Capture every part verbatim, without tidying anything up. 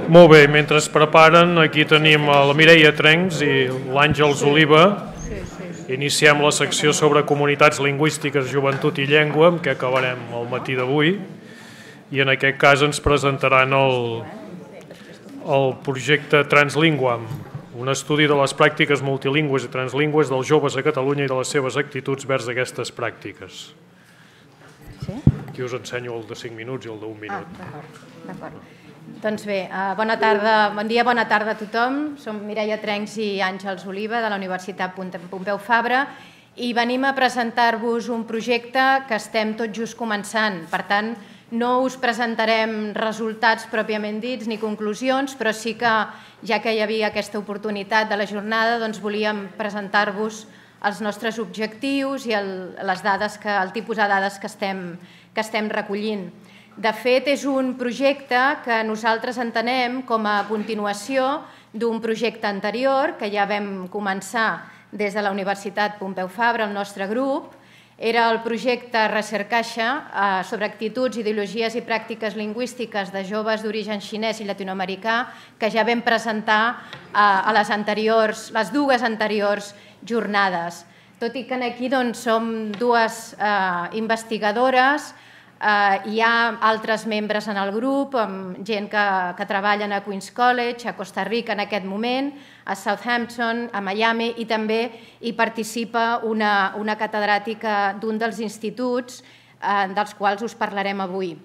Molt bé, mentre es preparen, aquí tenim la Mireia Trencs i l'Àngels Oliva. Iniciem la secció sobre comunitats lingüístiques, joventut i llengua, amb què acabarem el matí d'avui. I en aquest cas ens presentaran el, el projecte Translinguam, un estudi de les pràctiques multilingües i translingües dels joves a Catalunya i de les seves actituds vers aquestes pràctiques. Aquí us ensenyo el de cinc minuts i el d'un minut. Ah, d'acord. Doncs bé, bona tarda, bon dia, bona tarda a tothom. Som Mireia Trencs i Àngels Oliva de la Universitat Pompeu Fabra i venim a presentar-vos un projecte que estem tot just començant. Per tant, no us presentarem resultats pròpiament dits ni conclusions, però sí que, ja que hi havia aquesta oportunitat de la jornada, doncs volíem presentar-vos els nostres objectius i el, les dades que, el tipus de dades que estem, que estem recollint. De fet, és un projecte que nosaltres entenem com a continuació d'un projecte anterior que ja vam començar des de la Universitat Pompeu Fabra, el nostre grup. Era el projecte Recercaixa sobre actituds, ideologies i pràctiques lingüístiques de joves d'origen xinès i llatinoamericà que ja vam presentar a les anteriors, les dues anteriors jornades. Tot i que aquí doncs, som dues eh, investigadores, eh, hi ha altres membres en el grup, amb gent que, que treballen a Queen's College, a Costa Rica en aquest moment, a Southampton, a Miami, i també hi participa una, una catedràtica d'un dels instituts eh, dels quals us parlarem avui.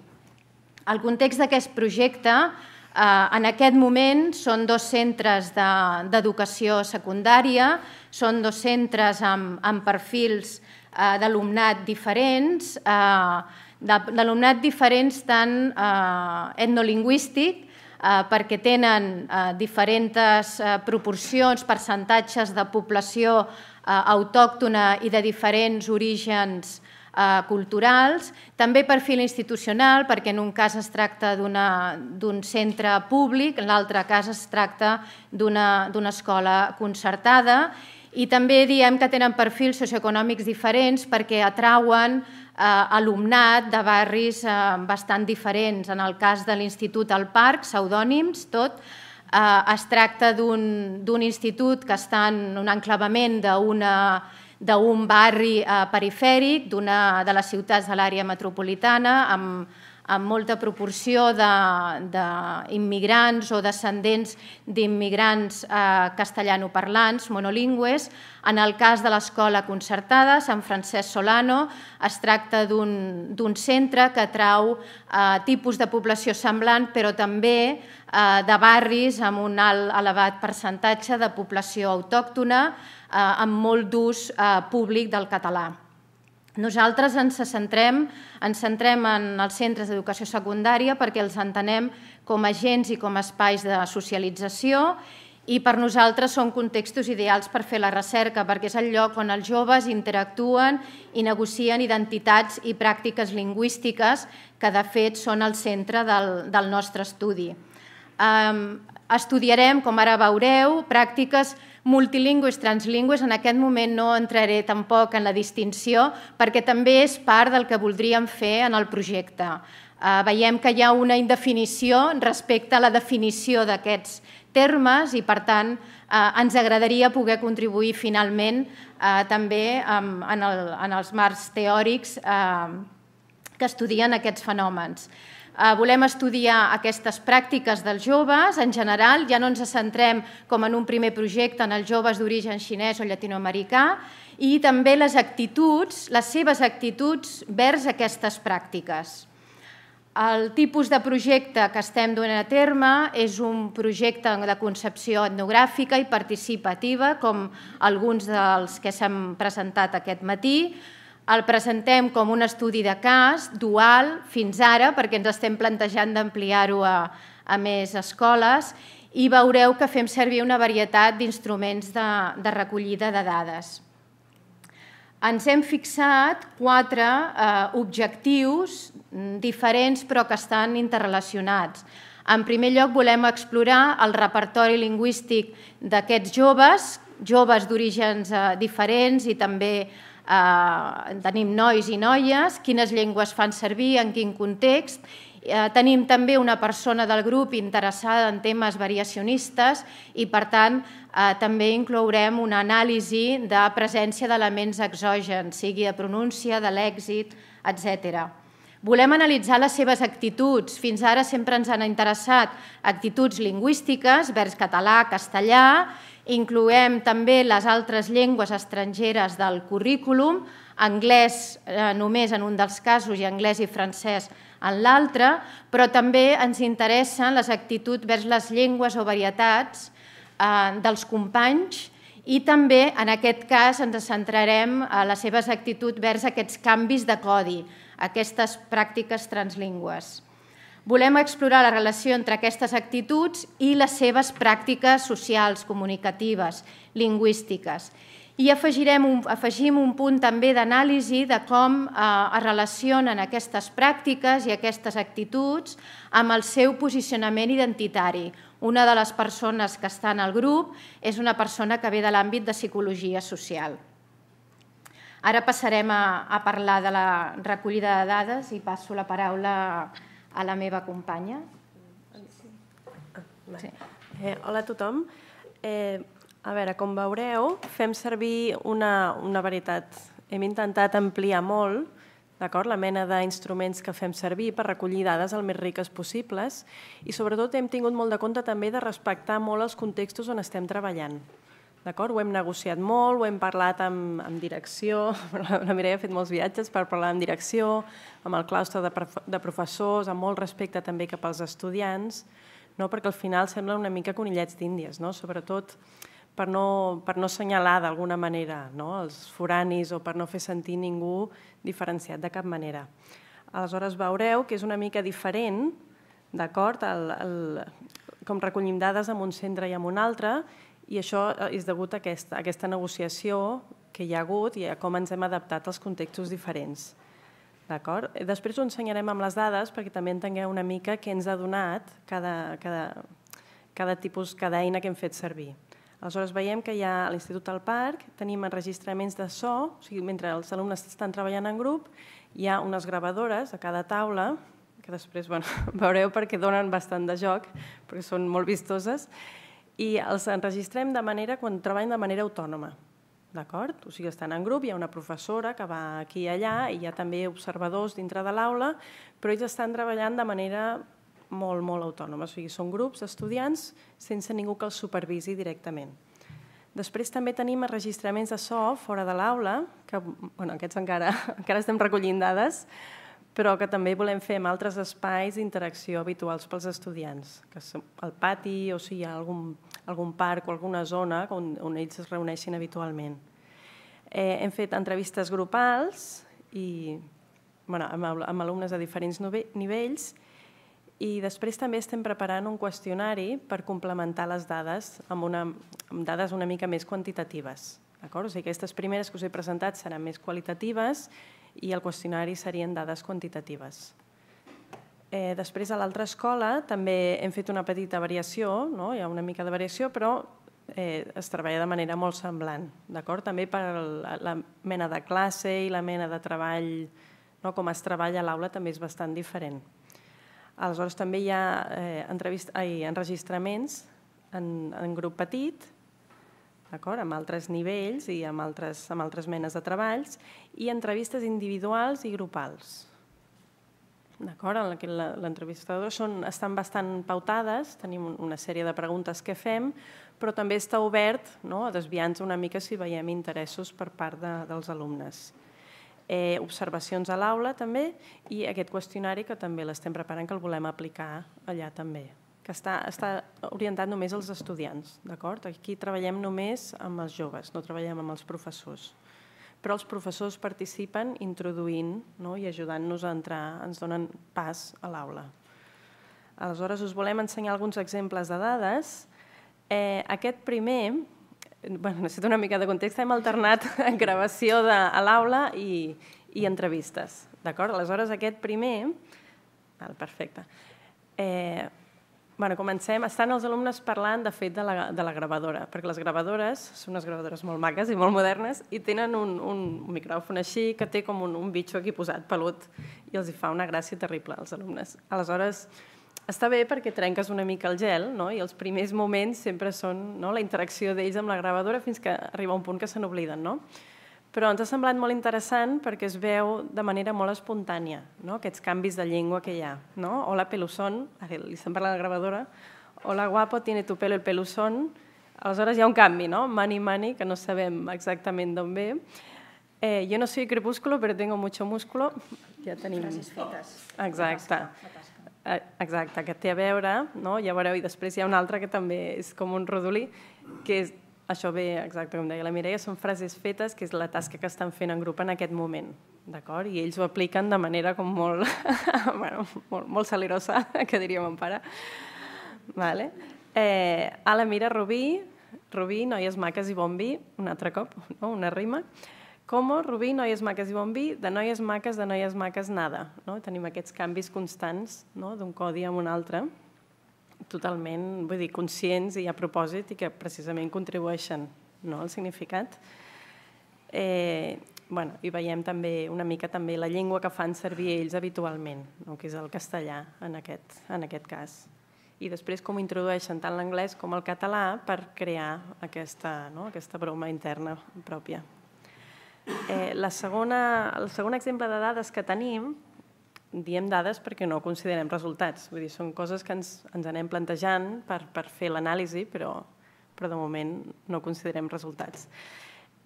El context d'aquest projecte, eh, en aquest moment, són dos centres d'educació secundària, són dos centres amb, amb perfils eh, d'alumnat diferents, eh, d'alumnat diferents tant eh, etnolingüístic, eh, perquè tenen eh, diferents eh, proporcions, percentatges de població eh, autòctona i de diferents orígens eh, culturals, també perfil institucional, perquè en un cas es tracta d'un centre públic, en l'altre cas es tracta d'una escola concertada, i també diem que tenen perfils socioeconòmics diferents perquè atrauen eh, alumnat de barris eh, bastant diferents. En el cas de l'Institut al Parc, pseudònims, tot, eh, es tracta d'un institut que està en un enclavament d'un barri eh, perifèric, d'una de les ciutats de l'àrea metropolitana, amb amb molta proporció d'immigrants o descendents d'immigrants castellanoparlants, monolingües. En el cas de l'escola concertada, Sant Francesc Solano, es tracta d'un centre que atrau tipus de població semblant, però també de barris amb un alt elevat percentatge de població autòctona, amb molt d'ús públic del català. Nosaltres ens centrem, ens centrem en els centres d'educació secundària perquè els entenem com a agents i com a espais de socialització i per nosaltres són contextos ideals per fer la recerca perquè és el lloc on els joves interactuen i negocien identitats i pràctiques lingüístiques que de fet són el centre del, del nostre estudi. Um, estudiarem, com ara veureu, pràctiques multilingües, translingües. En aquest moment no entraré tampoc en la distinció perquè també és part del que voldríem fer en el projecte. Uh, veiem que hi ha una indefinició respecte a la definició d'aquests termes i, per tant, uh, ens agradaria poder contribuir finalment uh, també um, en, el, en els marcs teòrics uh, que estudien aquests fenòmens. Volem estudiar aquestes pràctiques dels joves en general, ja no ens centrem com en un primer projecte en els joves d'origen xinès o llatinoamericà i també les actituds, les seves actituds vers aquestes pràctiques. El tipus de projecte que estem duent a terme és un projecte de concepció etnogràfica i participativa, com alguns dels que s'han presentat aquest matí. El presentem com un estudi de cas, dual, fins ara, perquè ens estem plantejant d'ampliar-ho a, a més escoles i veureu que fem servir una varietat d'instruments de, de recollida de dades. Ens hem fixat quatre eh, objectius diferents però que estan interrelacionats. En primer lloc, volem explorar el repertori lingüístic d'aquests joves, joves d'orígens eh, diferents i també Uh, tenim nois i noies, quines llengües fan servir, en quin context, Tenim també una persona del grup interessada en temes variacionistes i, per tant, també inclourem una anàlisi de presència d'elements exògens, sigui de pronúncia, de lèxic, etcètera. Volem analitzar les seves actituds. Fins ara sempre ens han interessat actituds lingüístiques vers català, castellà. Incloem també les altres llengües estrangeres del currículum, anglès només en un dels casos i anglès i francès en l'altre, però també ens interessen les actituds vers les llengües o varietats dels companys i també, en aquest cas, ens centrarem en les seves actituds vers aquests canvis de codi, aquestes pràctiques translingües. Volem explorar la relació entre aquestes actituds i les seves pràctiques socials, comunicatives, lingüístiques. I afegim un punt també d'anàlisi de com es relacionen aquestes pràctiques i aquestes actituds amb el seu posicionament identitari. Una de les persones que està en el grup és una persona que ve de l'àmbit de psicologia social. Ara passarem a parlar de la recollida de dades i passo la paraula a la meva companya. Hola a tothom. A veure, com veureu, fem servir una varietat. Hem intentat ampliar molt la mena d'instruments que fem servir per recollir dades el més riques possibles i sobretot hem tingut molt de compte també de respectar molt els contextos on estem treballant. Ho hem negociat molt, ho hem parlat amb direcció, la Mireia ha fet molts viatges per parlar amb direcció, amb el claustre de professors, amb molt respecte també cap als estudiants, perquè al final semblen una mica conillets d'Índies, sobretot per no assenyalar d'alguna manera els foranis o per no fer sentir ningú diferenciat de cap manera. Aleshores veureu que és una mica diferent, d'acord, com recollim dades en un centre i en un altre, i això és degut a aquesta negociació que hi ha hagut i a com ens hem adaptat als contextos diferents. Després ho ensenyarem amb les dades perquè també entengueu una mica què ens ha donat cada tipus, cada eina que hem fet servir. Aleshores veiem que hi ha a l'Institut del Parc, tenim enregistraments de so, o sigui, mentre els alumnes estan treballant en grup, hi ha unes gravadores a cada taula, que després veureu perquè donen bastant de joc, perquè són molt vistoses, i els enregistrem de manera, quan treballen de manera autònoma, d'acord? O sigui, estan en grup, hi ha una professora que va aquí i allà, i hi ha també observadors dintre de l'aula, però ells estan treballant de manera molt, molt autònoma. O sigui, són grups d'estudiants sense ningú que els supervisi directament. Després també tenim enregistraments de so fora de l'aula, que aquests encara estem recollint dades, però que també volem fer en altres espais d'interacció habituals pels estudiants, que és el pati o si hi ha algun parc o alguna zona on ells es reuneixin habitualment. Hem fet entrevistes grupals amb alumnes de diferents nivells i després també estem preparant un qüestionari per complementar les dades amb dades una mica més quantitatives. Aquestes primeres que us he presentat seran més qualitatives i el qüestionari serien dades quantitatives. Després, a l'altra escola, també hem fet una petita variació, hi ha una mica de variació, però es treballa de manera molt semblant. També per la mena de classe i la mena de treball, com es treballa a l'aula, també és bastant diferent. Aleshores, també hi ha enregistraments en grup petit, amb altres nivells i amb altres menes de treballs, i entrevistes individuals i grupals. Les entrevistadores estan bastant pautades, tenim una sèrie de preguntes que fem, però també està obert a desviar-nos una mica si veiem interessos per part dels alumnes. Observacions a l'aula també i aquest qüestionari que també l'estem preparant, que el volem aplicar allà també, que està orientat només als estudiants. Aquí treballem només amb els joves, no treballem amb els professors. Però els professors participen introduint i ajudant-nos a entrar, ens donen pas a l'aula. Aleshores, us volem ensenyar alguns exemples de dades. Aquest primer, necessito una mica de context, hem alternat gravació a l'aula i entrevistes. Aleshores, aquest primer... Perfecte. Bueno, comencem. Estan els alumnes parlant, de fet, de la, de la gravadora, perquè les gravadores són unes gravadores molt maques i molt modernes i tenen un, un micròfon així que té com un, un bitxo aquí posat, pelut, i els hi fa una gràcia terrible als alumnes. Aleshores, està bé perquè trenques una mica el gel, no? I els primers moments sempre són, no?, la interacció d'ells amb la gravadora fins que arriba un punt que se n'obliden, no? Però ens ha semblat molt interessant perquè es veu de manera molt espontània, no?, aquests canvis de llengua que hi ha. No? Hola, pelusón, ara li estem parlant de la gravadora. Hola, guapo, tiene tu pelo el pelusón. Aleshores hi ha un canvi, no? Mani, mani, que no sabem exactament d'on ve. Eh, yo no soy crepúsculo, pero tengo mucho músculo. Ja tenim... Frases fetes. Exacte. Exacte, que té a veure, no? Ja veureu, i després hi ha un altre que també és com un rodolí, que és això ve, exacte com deia la Mireia, són frases fetes, que és la tasca que estan fent en grup en aquest moment, d'acord? I ells ho apliquen de manera com molt, bueno, molt, molt salerosa, que diria mon pare. Vale. Eh, Ala, mira, Rubí, Rubí, noies maques i bon vi, un altre cop, no? Una rima. Como, Rubí, noies maques i bon vi, de noies maques, de noies maques, nada. No? Tenim aquests canvis constants, no?, d'un codi a un altre, totalment, vull dir, conscients i a propòsit i que precisament contribueixen, no?, al significat. Eh, bueno, i veiem també una mica també la llengua que fan servir ells habitualment, no?, que és el castellà en aquest, en aquest cas. I després com introdueixen tant l'anglès com el català per crear aquesta, no?, aquesta broma interna pròpia. Eh, la segona, el segon exemple de dades que tenim, diem dades perquè no considerem resultats. Vull dir, són coses que ens, ens anem plantejant per, per fer l'anàlisi, però, però de moment no considerem resultats.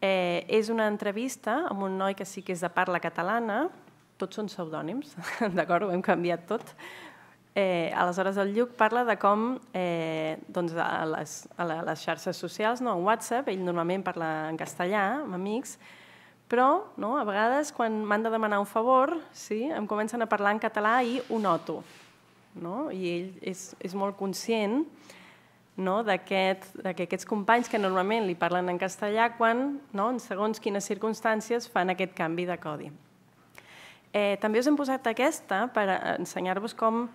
Eh, és una entrevista amb un noi que sí que és de parla catalana, tots són pseudònims, d'acord? Ho hem canviat tot. Eh, aleshores, el Lluc parla de com eh, doncs a, les, a les xarxes socials, no, en WhatsApp, ell normalment parla en castellà, amb amics, però no, a vegades quan m'han de demanar un favor, sí, em comencen a parlar en català i ho noto. No? I ell és, és molt conscient, no, d'aquest, que aquests companys que normalment li parlen en castellà quan, no, en segons quines circumstàncies, fan aquest canvi de codi. Eh, també us hem posat aquesta per ensenyar-vos com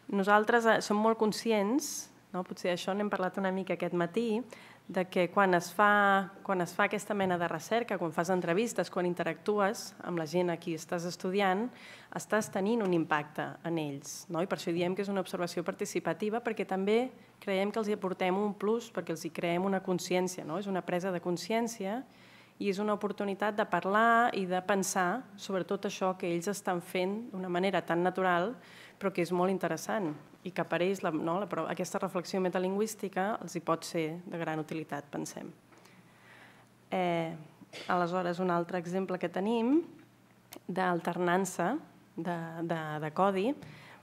nosaltres som molt conscients, no, potser això n'hem parlat una mica aquest matí, de que quan es, fa, quan es fa aquesta mena de recerca, quan fas entrevistes, quan interactues amb la gent a qui estàs estudiant, estàs tenint un impacte en ells. No? I per això diem que és una observació participativa, perquè també creiem que els hi aportem un plus, perquè els hi creem una consciència, no? És una presa de consciència i és una oportunitat de parlar i de pensar sobre tot això que ells estan fent d'una manera tan natural, però que és molt interessant i que per ells la, no, la, aquesta reflexió metalingüística els hi pot ser de gran utilitat, pensem. Eh, aleshores, un altre exemple que tenim d'alternança de, de, de codi,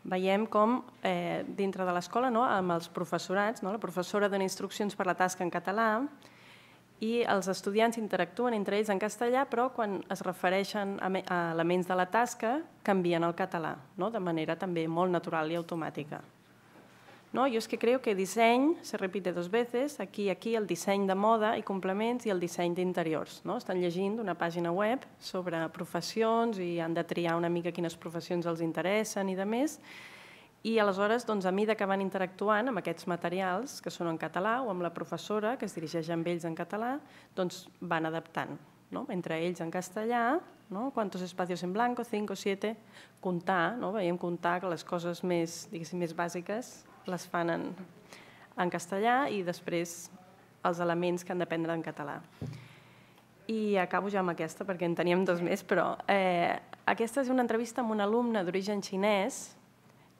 veiem com eh, dintre de l'escola, no, amb els professorats, no, la professora dona instruccions per la tasca en català i els estudiants interactuen entre ells en castellà, però quan es refereixen a, a elements de la tasca canvien al català, no? De manera també molt natural i automàtica. No? Jo és que creo que disseny se repite dos veces, aquí i aquí el disseny de moda i complements i el disseny d'interiors. No? Estan llegint una pàgina web sobre professions i han de triar una mica quines professions els interessen i de més. I aleshores, doncs, a mesura que van interactuant amb aquests materials, que són en català, o amb la professora, que es dirigeix amb ells en català, doncs van adaptant, no? Entre ells en castellà, no? Quantos espacios en blanco, cinco, siete, comptar, no? Veiem comptar que les coses més, diguéssim, més bàsiques les fan en, en castellà i després els elements que han d'aprendre en català. I acabo ja amb aquesta, perquè en teníem dos més, però eh, aquesta és una entrevista amb un alumne d'origen xinès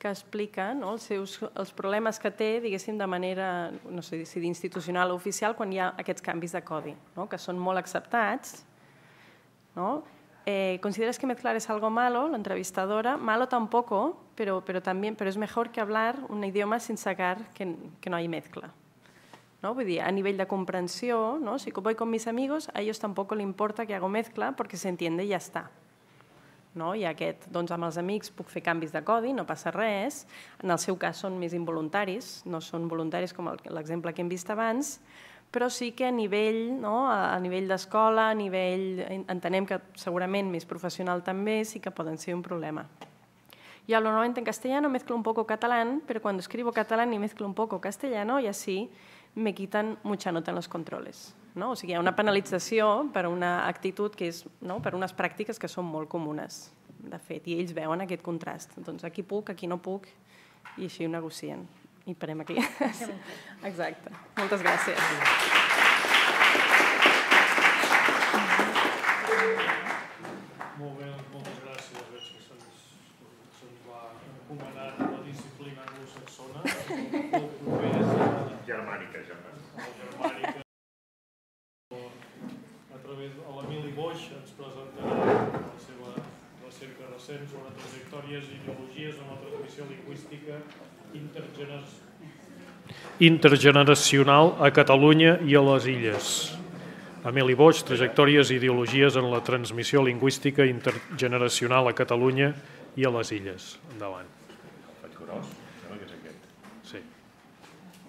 que explica, no, els, seus, els problemes que té, diguéssim, de manera, no sé si d'institucional o oficial, quan hi ha aquests canvis de codi, no, que són molt acceptats. ¿No? Eh, ¿Consideras que mezclar es algo malo? La entrevistadora, malo tampoco, pero, pero, también, pero es mejor que hablar un idioma sin sacar que, que no hay mezcla. ¿No? Vull dir, a nivell de comprensió, ¿no? Si voy con mis amigos, a ellos tampoco le importa que hago mezcla porque se entiende i ja està. No? I aquest, doncs, amb els amics puc fer canvis de codi, no passa res. En el seu cas són més involuntaris, no són voluntaris com l'exemple que hem vist abans, però sí que a nivell, no? a nivell d'escola, a nivell, entenem que segurament més professional també, sí que poden ser un problema. Yo hablo normalmente en castellano, mezclo un poco catalán, pero cuando escribo catalán y mezclo un poco castellano y así me quitan mucha nota en los controles. No? O sigui, hi ha una penalització per una actitud que és, no? per unes pràctiques que són molt comunes, de fet, i ells veuen aquest contrast. Doncs aquí puc, aquí no puc, i així ho negocien. I parem aquí. Exacte. Moltes gràcies. Molt bé, moltes gràcies. Veig que se'ns va encomanar la disciplina anglosaxona. Germànica, germànica. A través de l'Emili Boix ens presentarà la seva recerca recent sobre trajectòries i ideologies en la transmissió lingüística intergeneracional a Catalunya i a les Illes. Emili Boix, trajectòries i ideologies en la transmissió lingüística intergeneracional a Catalunya i a les Illes. Endavant. Faig gros? Sembla que és aquest. Sí.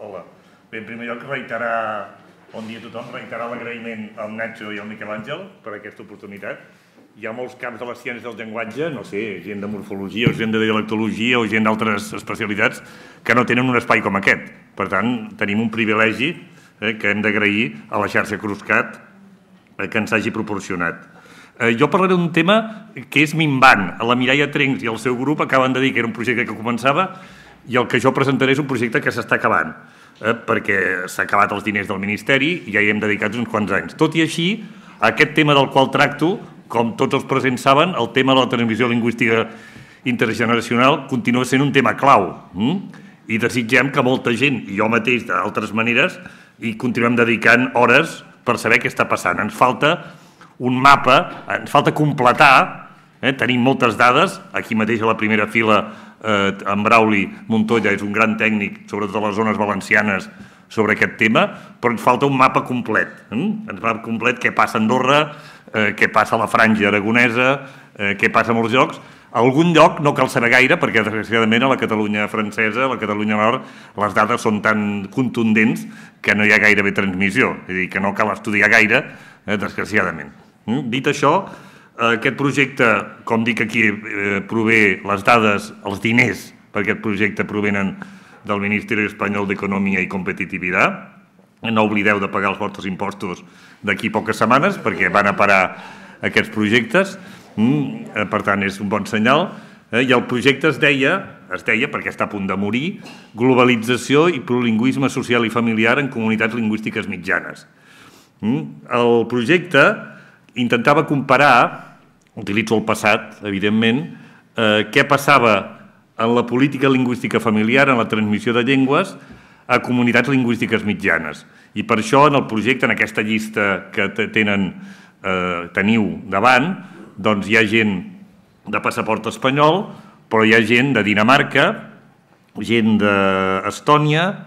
Hola. Bé, en primer lloc, reiterar, bon dia a tothom, reiterar l'agraïment al Nacho i al Miquel Àngel per aquesta oportunitat. Hi ha molts camps de les ciències del llenguatge, no sé, gent de morfologia o gent de dialectologia o gent d'altres especialitats que no tenen un espai com aquest. Per tant, tenim un privilegi eh, que hem d'agrair a la xarxa Cruscat eh, que ens hagi proporcionat. Eh, jo parlaré d'un tema que és minvant. La Mireia Trencs i el seu grup acaben de dir que era un projecte que començava i el que jo presentaré és un projecte que s'està acabant, eh, perquè s'ha acabat els diners del Ministeri i ja hi hem dedicat uns quants anys. Tot i així, aquest tema del qual tracto, com tots els presents saben, el tema de la transmissió lingüística intergeneracional continua sent un tema clau. Mm? I desitgem que molta gent, i jo mateix d'altres maneres, hi continuem dedicant hores per saber què està passant. Ens falta un mapa, ens falta completar, eh? Tenim moltes dades, aquí mateix a la primera fila eh, en Brauli Montoya és un gran tècnic, sobretot a les zones valencianes, sobre aquest tema, però ens falta un mapa complet. Eh? Ens mapa complet què passa a Andorra, eh, què passa a la franja aragonesa, eh, què passa a molts llocs. A algun lloc no cal saber gaire, perquè desgraciadament a la Catalunya francesa, a la Catalunya nord, les dades són tan contundents que no hi ha gairebé transmissió, és a dir, que no cal estudiar gaire, eh, desgraciadament. Mm? Dit això, eh, aquest projecte, com dic aquí, eh, prové les dades, els diners per aquest projecte provenen del Ministeri Espanyol d'Economia i Competitivitat. No oblideu de pagar els vostres impostos d'aquí poques setmanes, perquè van a parar aquests projectes. Mm, per tant, és un bon senyal. Eh, I el projecte es deia, es deia, perquè està a punt de morir, globalització i plurilingüisme social i familiar en comunitats lingüístiques mitjanes. Mm, el projecte intentava comparar, utilitzo el passat, evidentment, eh, què passava en la política lingüística familiar, en la transmissió de llengües, a comunitats lingüístiques mitjanes. I per això, en el projecte, en aquesta llista que tenen, eh, teniu davant, doncs hi ha gent de passaport espanyol, però hi ha gent de Dinamarca, gent d'Estònia,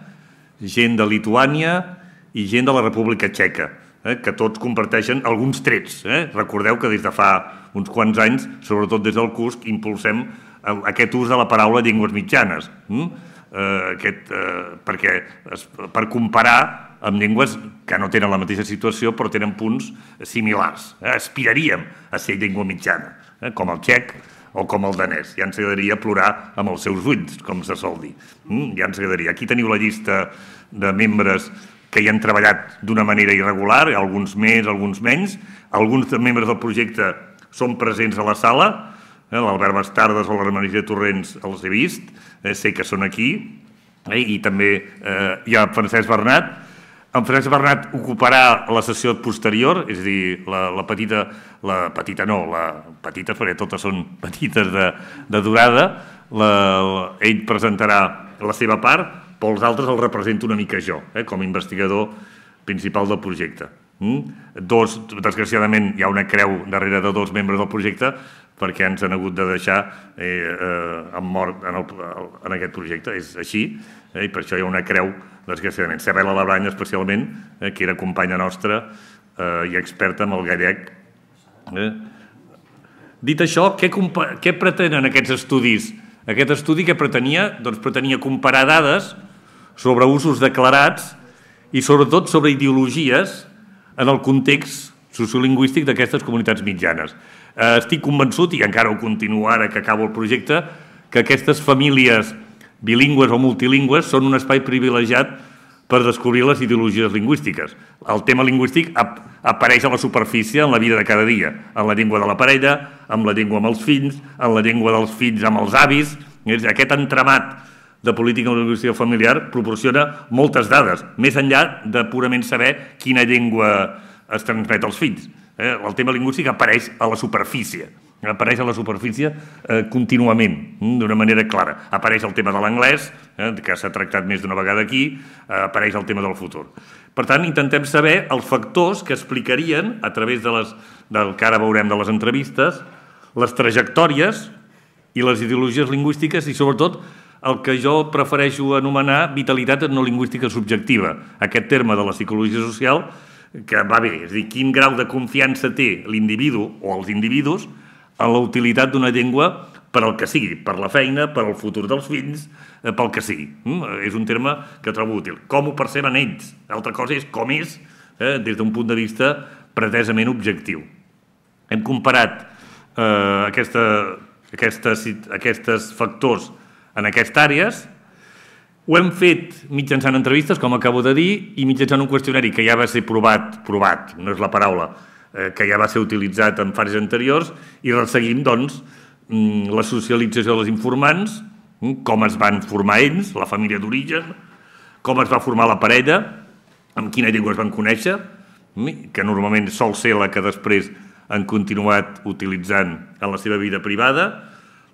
gent de Lituània i gent de la República Txeca, eh, que tots comparteixen alguns trets. Eh? Recordeu que des de fa uns quants anys, sobretot des del C U S C, impulsem aquest ús de la paraula llengües mitjanes, hm? eh, aquest, eh, perquè es, per comparar amb llengües que no tenen la mateixa situació però tenen punts similars. Eh? Aspiraríem a ser llengua mitjana, eh? com el txec o com el danès. Ja ens agradaria plorar amb els seus ulls, com se sol dir. Hm? Ja ens agradaria. Aquí teniu la llista de membres que hi han treballat d'una manera irregular, alguns més, alguns menys. Alguns membres del projecte són presents a la sala, eh? l'Albert Bastardes o la Maria Torrents els he vist, eh? sé que són aquí, eh? i també eh, hi ha Francesc Bernat. En Francesc Bernat ocuparà la sessió posterior, és a dir, la, la petita, la petita no, la petita, perquè totes són petites de, de durada, la, la, ell presentarà la seva part, però els altres el represento una mica jo, eh, com a investigador principal del projecte. Mm? Dos, desgraciadament, hi ha una creu darrere de dos membres del projecte perquè ens han hagut de deixar eh, eh, en mort en, el, en aquest projecte. És així, eh, i per això hi ha una creu, desgraciadament. Sabela Labrany, especialment, eh, que era companya nostra eh, i experta en el gallec. Eh? Dit això, què, què pretenen aquests estudis? Aquest estudi que pretenia? Doncs pretenia comparar dades sobre usos declarats i sobretot sobre ideologies en el context sociolingüístic d'aquestes comunitats mitjanes. Eh, estic convençut, i encara ho continuo ara que acabo el projecte, que aquestes famílies bilingües o multilingües són un espai privilegiat per descobrir les ideologies lingüístiques. El tema lingüístic ap apareix a la superfície en la vida de cada dia, en la llengua de la parella, en la llengua amb els fills, en la llengua dels fills amb els avis. Aquest entramat de política lingüística familiar proporciona moltes dades, més enllà de purament saber quina llengua es transmet als fills. El tema lingüístic apareix a la superfície, apareix a la superfície eh, contínuament, d'una manera clara. Apareix el tema de l'anglès, eh, que s'ha tractat més d'una vegada aquí, eh, apareix el tema del futur. Per tant, intentem saber els factors que explicarien, a través de les, del que ara veurem de les entrevistes, les trajectòries i les ideologies lingüístiques i, sobretot, el que jo prefereixo anomenar vitalitat etnolingüística subjectiva, aquest terme de la psicologia social que va bé, és a dir, quin grau de confiança té l'individu o els individus en la utilitat d'una llengua per al que sigui, per la feina, per al futur dels fills, pel que sigui. És un terme que trobo útil. Com ho perceben ells? L'altra cosa és com és eh, des d'un punt de vista pretesament objectiu. Hem comparat eh, aquesta, aquestes, aquestes factors en aquestes àrees. Ho hem fet mitjançant entrevistes, com acabo de dir, i mitjançant un qüestionari que ja va ser provat, provat, no és la paraula, eh, que ja va ser utilitzat en fases anteriors, i resseguim, doncs, la socialització dels informants, com es van formar ells, la família d'origen, com es va formar la parella, amb quina llengua es van conèixer, que normalment sol ser la que després han continuat utilitzant en la seva vida privada,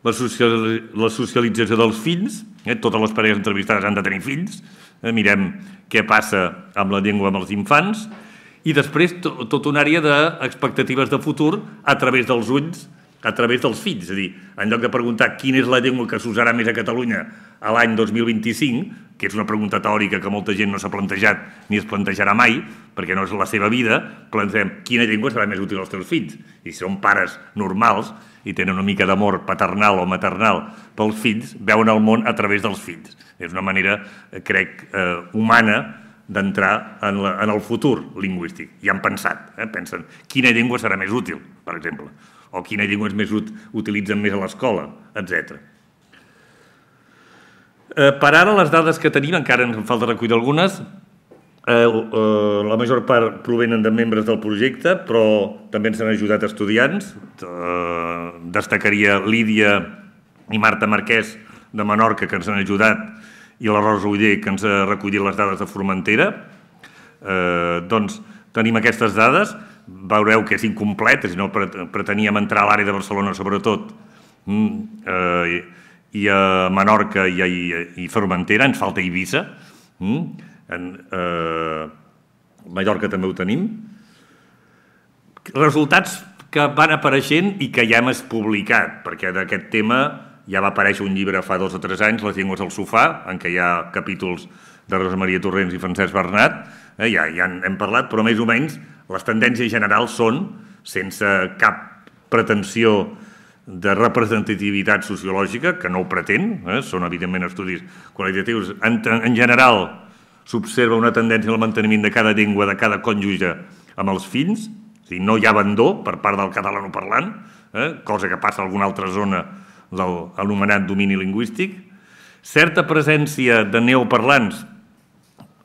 la, social, la socialització dels fills, eh, totes les parelles entrevistades han de tenir fills, eh, mirem què passa amb la llengua amb els infants, i després to, tota una àrea d'expectatives de futur a través dels ulls, a través dels fills. És a dir, en lloc de preguntar quina és la llengua que s'usarà més a Catalunya a l'any dos mil vint-i-cinc, que és una pregunta teòrica que molta gent no s'ha plantejat ni es plantejarà mai, perquè no és la seva vida, plantegem quina llengua serà més útil als teus fills. I si són pares normals i tenen una mica d'amor paternal o maternal pels fills, veuen el món a través dels fills. És una manera, crec, eh, humana d'entrar en, la, en el futur lingüístic. I han pensat, eh? pensen quina llengua serà més útil, per exemple, o quina llengua és més ut utilitzen més a l'escola, etcètera. Eh, per ara, les dades que tenim, encara ens en falta recollir algunes, eh, eh, la major part provenen de membres del projecte, però també ens han ajudat estudiants. Eh, destacaria Lídia i Marta Marquès de Menorca, que ens han ajudat, i la Rosa Uller, que ens ha recollit les dades de Formentera. Eh, doncs tenim aquestes dades, veureu que és incomplet, si no preteníem entrar a l'àrea de Barcelona sobretot, eh, i a Menorca i a i Formentera, ens falta Eivissa, en eh, Mallorca també ho tenim. Resultats que van apareixent i que ja hem publicat, perquè d'aquest tema ja va aparèixer un llibre fa dos o tres anys, Les llengües al sofà, en què hi ha capítols de Rosa Maria Torrents i Francesc Bernat, eh, ja, ja en hem parlat, però més o menys les tendències generals són, sense cap pretensió de representativitat sociològica, que no ho pretén, eh, són evidentment estudis qualitatius, en, en general s'observa una tendència al manteniment de cada llengua, de cada cònjuge amb els fills, o sigui, no hi ha abandó per part del catalanoparlant, eh, cosa que passa a alguna altra zona de l'anomenat domini lingüístic, certa presència de neoparlants,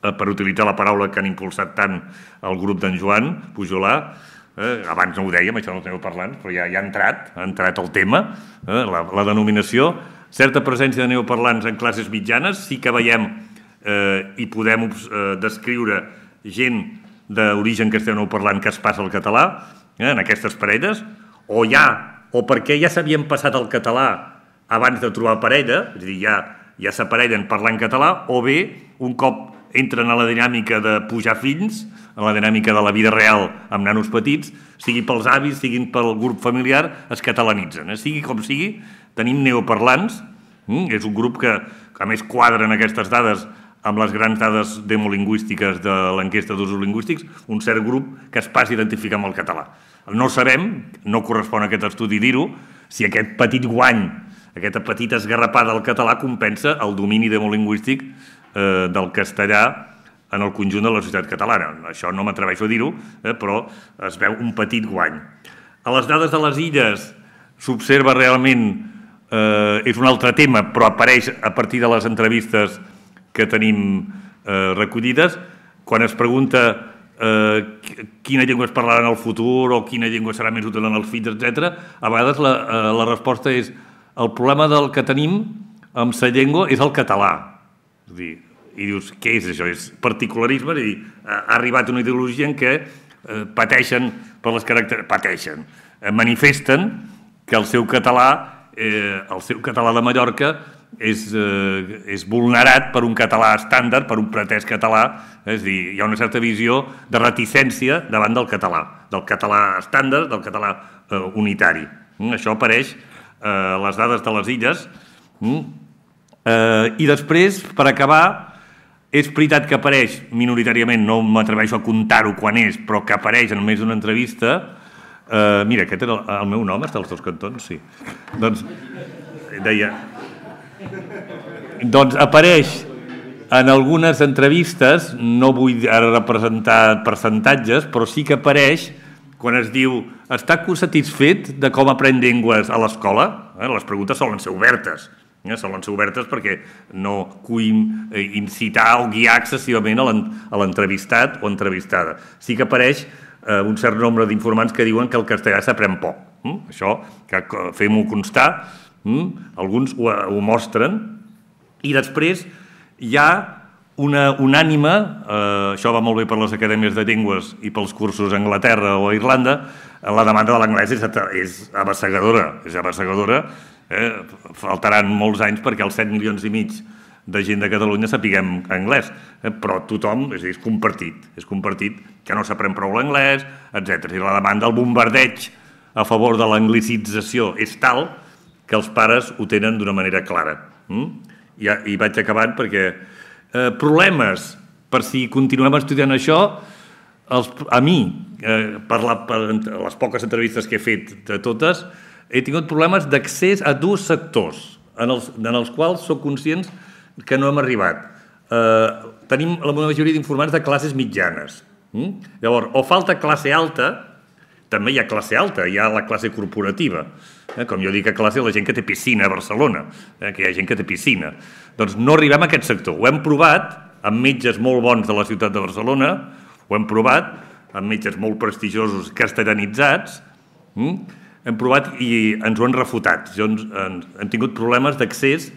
eh, per utilitzar la paraula que han impulsat tant el grup d'en Joan Pujolà, eh, abans no ho dèiem, això dels neoparlants, però ja, ja ha entrat, ha entrat el tema, eh, la, la denominació, certa presència de neoparlants en classes mitjanes, sí que veiem eh, i podem eh, descriure gent d'origen castellanoparlant que es passa al català, eh, en aquestes parelles, o ja, o perquè ja s'havien passat al català abans de trobar parella, és a dir, ja, ja s'aparellen parlant català, o bé, un cop entren a la dinàmica de pujar fills, a la dinàmica de la vida real amb nanos petits, sigui pels avis, siguin pel grup familiar, es catalanitzen. Eh? Sigui com sigui, tenim neoparlants, mm? és un grup que, que a més quadren aquestes dades amb les grans dades demolingüístiques de l'enquesta d'usos lingüístics, un cert grup que es passa a identificar amb el català. No sabem, no correspon a aquest estudi dir-ho, si aquest petit guany, aquesta petita esgarrapada del català compensa el domini demolingüístic eh, del castellà en el conjunt de la societat catalana. Això no m'atreveixo a dir-ho, eh, però es veu un petit guany. A les dades de les illes s'observa realment és un altre tema, però apareix a partir de les entrevistes que tenim recollides. Quan es pregunta quina llengua es parlarà en el futur o quina llengua serà més útil en els fills, etcètera, a vegades la resposta és el problema del que tenim amb la llengua és el català. És a dir, i dius, què és això? És particularisme, és a dir, ha arribat una ideologia en què pateixen per les característiques, pateixen, manifesten que el seu català, el seu català de Mallorca és vulnerat per un català estàndard, per un pretès català, és a dir, hi ha una certa visió de reticència davant del català, del català estàndard, del català unitari. Això apareix a les dades de les illes. I després, per acabar, és veritat que apareix minoritàriament, no m'atreveixo a comptar-ho quan és, però que apareix en més d'una entrevista. Mira, aquest era el meu nom, està als dos cantons, sí. Doncs, deia... Doncs apareix en algunes entrevistes, no vull ara representar percentatges, però sí que apareix quan es diu està satisfet de com aprèn llengües a l'escola? Les preguntes solen ser obertes. Solen ser obertes perquè no vull incitar o guiar excessivament a l'entrevistat o entrevistada. Sí que apareix un cert nombre d'informants que diuen que el castellà s'aprèn poc. Això, fem-ho constar, alguns ho mostren, i després hi ha una unànime, això va molt bé per les acadèmies de llengües i pels cursos a Anglaterra o a Irlanda, la demanda de l'anglès és abassegadora, és abassegadora. Faltaran molts anys perquè els set milions i mig de gent de Catalunya sapiguem anglès, però tothom, és compartit, és compartit que no s'aprèn prou l'anglès, etcètera. I la demanda, el bombardeig a favor de l'anglicització és tal que els pares ho tenen d'una manera clara. I vaig acabant perquè problemes per si continuem estudiant això, a mi, per les poques entrevistes que he fet de totes, he tingut problemes d'accés a dos sectors en els quals soc conscients que no hem arribat. Tenim la majoria d'informants de classes mitjanes. Llavors, o falta classe alta, també hi ha classe alta, hi ha la classe corporativa. Com jo dic a classe, la gent que té piscina a Barcelona, que hi ha gent que té piscina. Doncs no arribem a aquest sector. Ho hem provat amb metges molt bons de la ciutat de Barcelona, ho hem provat amb metges molt prestigiosos castellanitzats, hem provat i ens ho han refutat. Hem tingut problemes d'accés.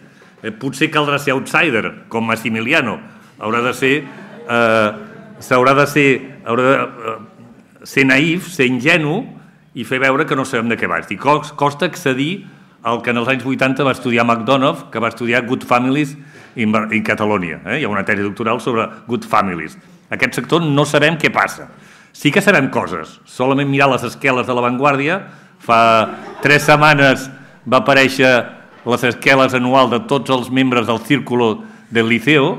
Potser caldrà ser outsider, com Massimiliano. Haurà de ser... S'haurà de ser... ser naïf, ser ingenu i fer veure que no sabem de què va. Costa accedir al que en els anys vuitanta va estudiar McDonough, que va estudiar Good Families in Catalonia. Hi ha una tesi doctoral sobre Good Families. Aquest sector no sabem què passa. Sí que sabem coses. Solament mirar les esqueles de La Vanguardia. Fa tres setmanes va aparèixer les esqueles anuals de tots els membres del Círculo del Liceo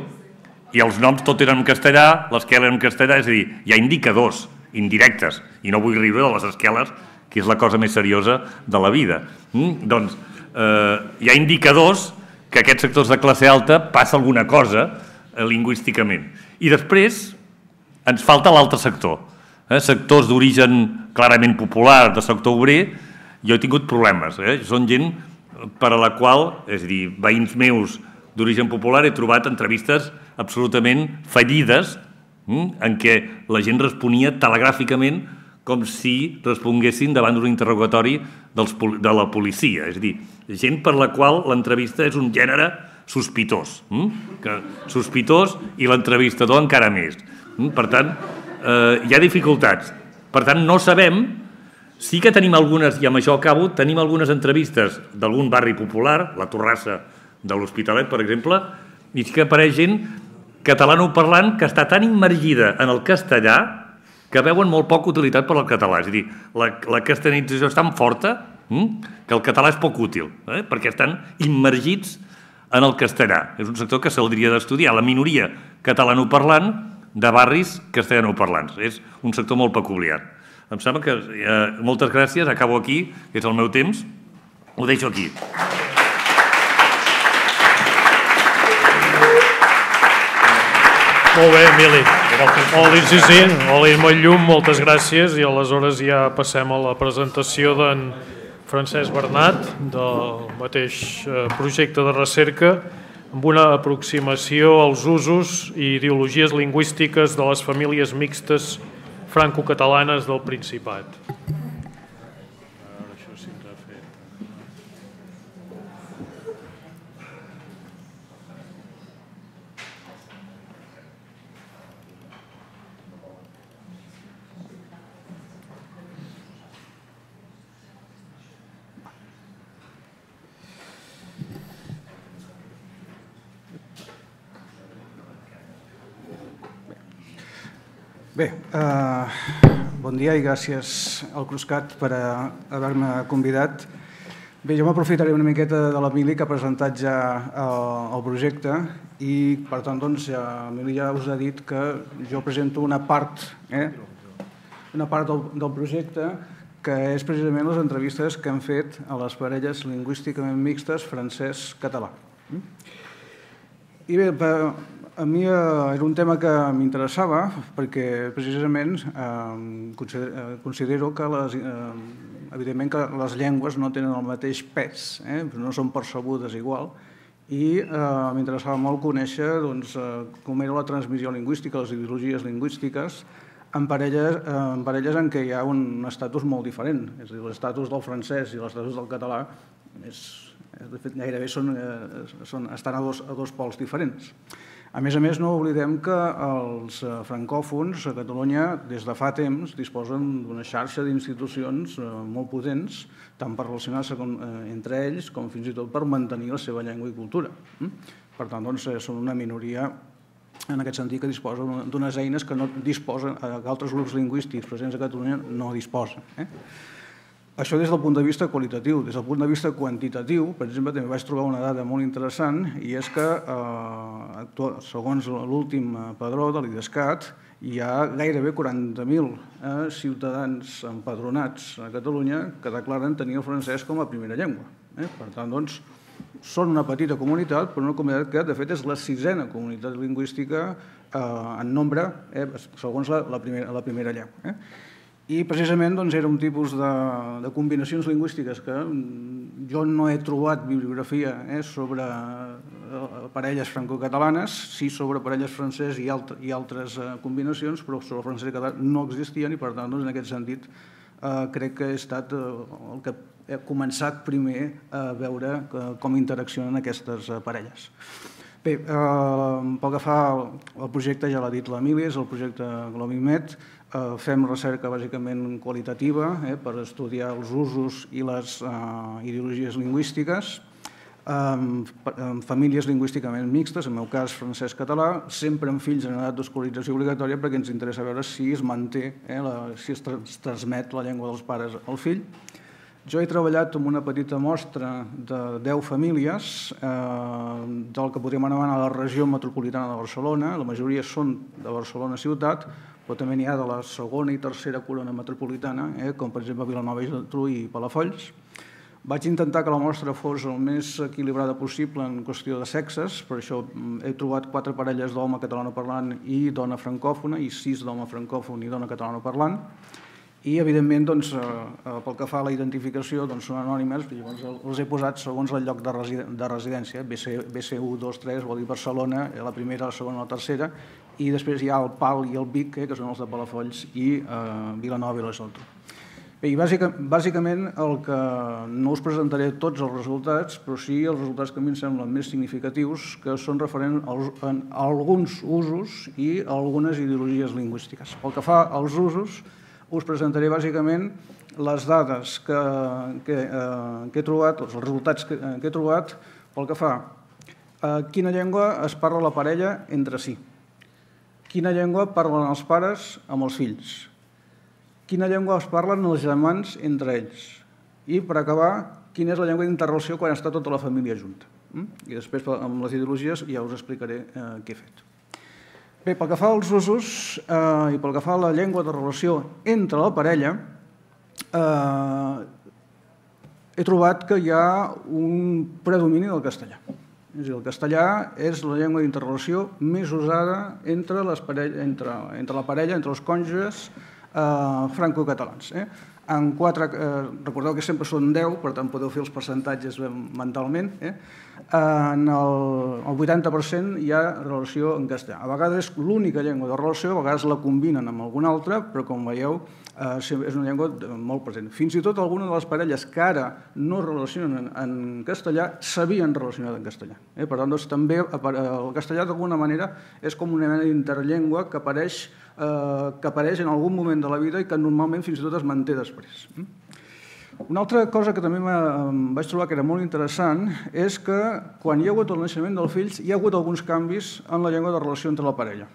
i els noms tot eren en castellà, l'esquela era en castellà, és a dir, hi ha indicadors indirectes, i no vull riure de les esqueles, que és la cosa més seriosa de la vida. Doncs hi ha indicadors que aquests sectors de classe alta passa alguna cosa lingüísticament. I després ens falta l'altre sector. Sectors d'origen clarament popular, de sector obrer, jo he tingut problemes. Són gent per a la qual, és a dir, veïns meus d'origen popular, he trobat entrevistes absolutament fallides en què la gent responia telegràficament com si responguessin davant d'un interrogatori de la policia. És a dir, gent per la qual l'entrevista és un gènere sospitós. Sospitós i l'entrevistador encara més. Per tant, hi ha dificultats. Per tant, no sabem... Sí que tenim algunes, i amb això acabo, tenim algunes entrevistes d'algun barri popular, la Torrassa de l'Hospitalet, per exemple, i sí que apareix gent catalanoparlant que està tan immergida en el castellà que veuen molt poca utilitat per al català. És a dir, la castellanització és tan forta que el català és poc útil, perquè estan immergits en el castellà. És un sector que s'hauria d'estudiar, la minoria catalanoparlant de barris castellanoparlants. És un sector molt peculiar. Em sembla que... Moltes gràcies, acabo aquí, que és el meu temps. Ho deixo aquí. Molt bé, Emili. Oli, sí, sí, Oli molt llum, moltes gràcies, i aleshores ja passem a la presentació d'en Francesc Bernat, del mateix projecte de recerca, amb una aproximació als usos i ideologies lingüístiques de les famílies mixtes franco-catalanes del Principat. Bé, bon dia i gràcies al Cruscat per haver-me convidat. Bé, jo m'aprofitaré una miqueta de l'Emili, que ha presentat ja el projecte, i per tant, doncs, l'Emili ja us ha dit que jo presento una part, una part del projecte, que és precisament les entrevistes que hem fet a les parelles lingüísticament mixtes francès-català. I bé, a mi era un tema que m'interessava perquè precisament considero que evidentment que les llengües no tenen el mateix pes, no són percebudes igual, i m'interessava molt conèixer com era la transmissió lingüística, les ideologies lingüístiques, en parelles en què hi ha un estatus molt diferent. És a dir, l'estatus del francès i l'estatus del català gairebé estan a dos pols diferents. A més a més, no oblidem que els francòfons a Catalunya des de fa temps disposen d'una xarxa d'institucions molt potents, tant per relacionar-se entre ells com fins i tot per mantenir la seva llengua i cultura. Per tant, són una minoria en aquest sentit que disposen d'unes eines que altres grups lingüístics presents a Catalunya no disposen. Això des del punt de vista qualitatiu. Des del punt de vista quantitatiu, per exemple, també vaig trobar una dada molt interessant, i és que, segons l'últim padró de l'Idescat, hi ha gairebé quaranta mil ciutadans empadronats a Catalunya que declaren tenir el francès com a primera llengua. Per tant, doncs, són una petita comunitat, però una comunitat que, de fet, és la sisena comunitat lingüística en nombre, segons la primera llengua. I precisament era un tipus de combinacions lingüístiques que jo no he trobat bibliografia sobre parelles francocatalanes, sí sobre parelles francès i altres combinacions, però sobre el francès i català no existien i per tant en aquest sentit crec que he estat el que he començat primer a veure com interaccionen aquestes parelles. Bé, pel que fa al projecte, ja l'ha dit l'Emili, és el projecte Globimed. Fem recerca bàsicament qualitativa per estudiar els usos i les ideologies lingüístiques en famílies lingüísticament mixtes, en el meu cas francès-català, sempre amb fills en edat d'escolarització obligatòria perquè ens interessa veure si es manté, si es transmet la llengua dels pares al fill. Jo he treballat amb una petita mostra de deu famílies del que podríem anomenar la regió metropolitana de Barcelona. La majoria són de Barcelona ciutat, però també n'hi ha de la segona i tercera corona metropolitana, com per exemple Vilanova i Geltrú i Palafolls. Vaig intentar que la mostra fos el més equilibrada possible en qüestió de sexes, per això he trobat quatre parelles d'home catalanoparlant i dona francòfona i sis d'home francòfon i dona catalanoparlant. I, evidentment, pel que fa a la identificació, són anònimes, els he posat segons el lloc de residència, B C u, dos, tres, vol dir Barcelona, la primera, la segona, la tercera, i després hi ha el Pal i el Vic, que són els de Palafolls, i Vilanova i la Geltrú. Bé, i bàsicament el que no us presentaré tots els resultats, però sí els resultats que a mi em semblen més significatius, que són referents a alguns usos i a algunes ideologies lingüístiques. Pel que fa als usos, us presentaré bàsicament les dades que he trobat, els resultats que he trobat pel que fa a quina llengua es parla la parella entre si, quina llengua parlen els pares amb els fills, quina llengua es parlen els germans entre ells i, per acabar, quina és la llengua d'interrelació quan està tota la família junta. I després, amb les ideologies, ja us explicaré què he fet. Bé, pel que fa als usos i pel que fa a la llengua de relació entre la parella, he trobat que hi ha un predomini del castellà. És a dir, el castellà és la llengua d'interrelació més usada entre la parella, entre els cònjuges francocatalans. en quatre, eh, recordeu que sempre són deu, per tant podeu fer els percentatges mentalment, eh? En el, el vuitanta per cent hi ha relació en castellà. A vegades és l'única llengua de relació, a vegades la combinen amb alguna altra, però com veieu eh, és una llengua molt present. Fins i tot algunes de les parelles que ara no es relacionen en castellà s'havien relacionat en castellà. Eh? Per tant, doncs, també el castellà d'alguna manera és com una mena d'interllengua que apareix, eh, que apareix en algun moment de la vida i que normalment fins i tot es manté després. Una altra cosa que també em vaig trobar que era molt interessant és que quan hi ha hagut el naixement dels fills hi ha hagut alguns canvis en la llengua de relació entre la parella.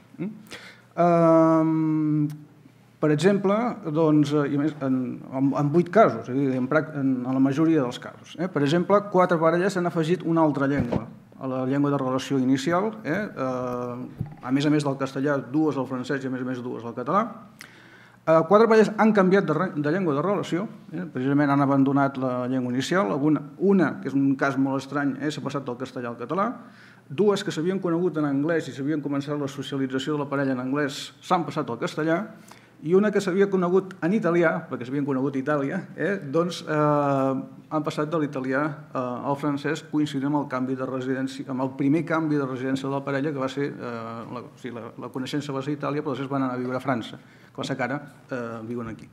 Per exemple, doncs, en, en vuit casos, és a dir, en, en la majoria dels casos. Eh? Per exemple, quatre parelles han afegit una altra llengua a la llengua de relació inicial, eh? Eh, a més a més del castellà, dues al francès i a més a més dues al català. Quatre parelles han canviat de, de llengua de relació, eh? Precisament han abandonat la llengua inicial, una, una que és un cas molt estrany, eh? s'ha passat del castellà al català, dues que s'havien conegut en anglès i s'havien començat la socialització de la parella en anglès s'han passat al castellà, i una que s'havia conegut en italià, perquè s'havien conegut a Itàlia, eh? doncs eh, han passat de l'italià eh, al francès coincidint amb el canvi de residència, amb el primer canvi de residència de la parella, que va ser, eh, la, o sigui, la, la coneixença va ser a Itàlia, però després van anar a viure a França, que va ser que ara eh, viuen aquí.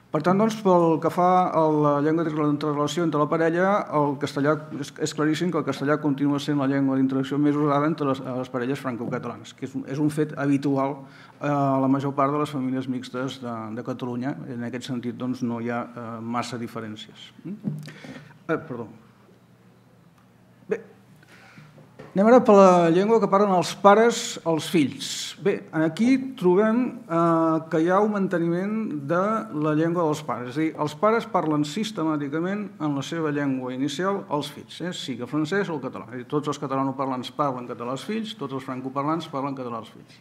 Per tant, doncs, pel que fa a la llengua d'interrelació entre la parella, el castellà és, és claríssim que el castellà continua sent la llengua d'interacció més usada entre les, les parelles francocatalanes, que és, és un fet habitual a la major part de les famílies mixtes de, de Catalunya. En aquest sentit, doncs, no hi ha eh, massa diferències. Eh, perdó. Bé, anem ara per la llengua que parlen els pares als fills. Bé, aquí trobem eh, que hi ha un manteniment de la llengua dels pares. És a dir, els pares parlen sistemàticament en la seva llengua inicial als fills, eh? sigui el francès o el català. És a dir, tots els catalanoparlants parlen català als fills, tots els francoparlants parlen català als fills.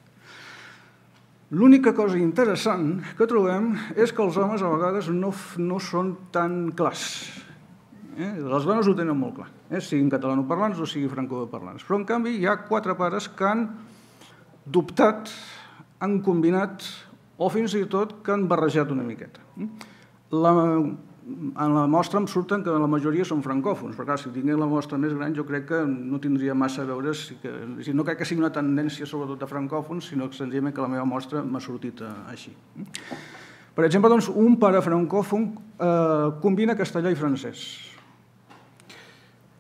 L'única cosa interessant que trobem és que els homes a vegades no, no són tan clars. Eh? Les dones ho tenen molt clar, eh? siguin catalanoparlants o siguin francoparlants. Però, en canvi, hi ha quatre pares que han dubtat, han combinat o fins i tot que han barrejat una miqueta. La, en la mostra em surten que la majoria són francòfons, però clar, si tingués la mostra més gran jo crec que no tindria massa a veure, si que, no crec que sigui una tendència sobretot de francòfons, sinó que senzillament que la meva mostra m'ha sortit així. Per exemple, doncs, un pare francòfon eh, combina castellà i francès.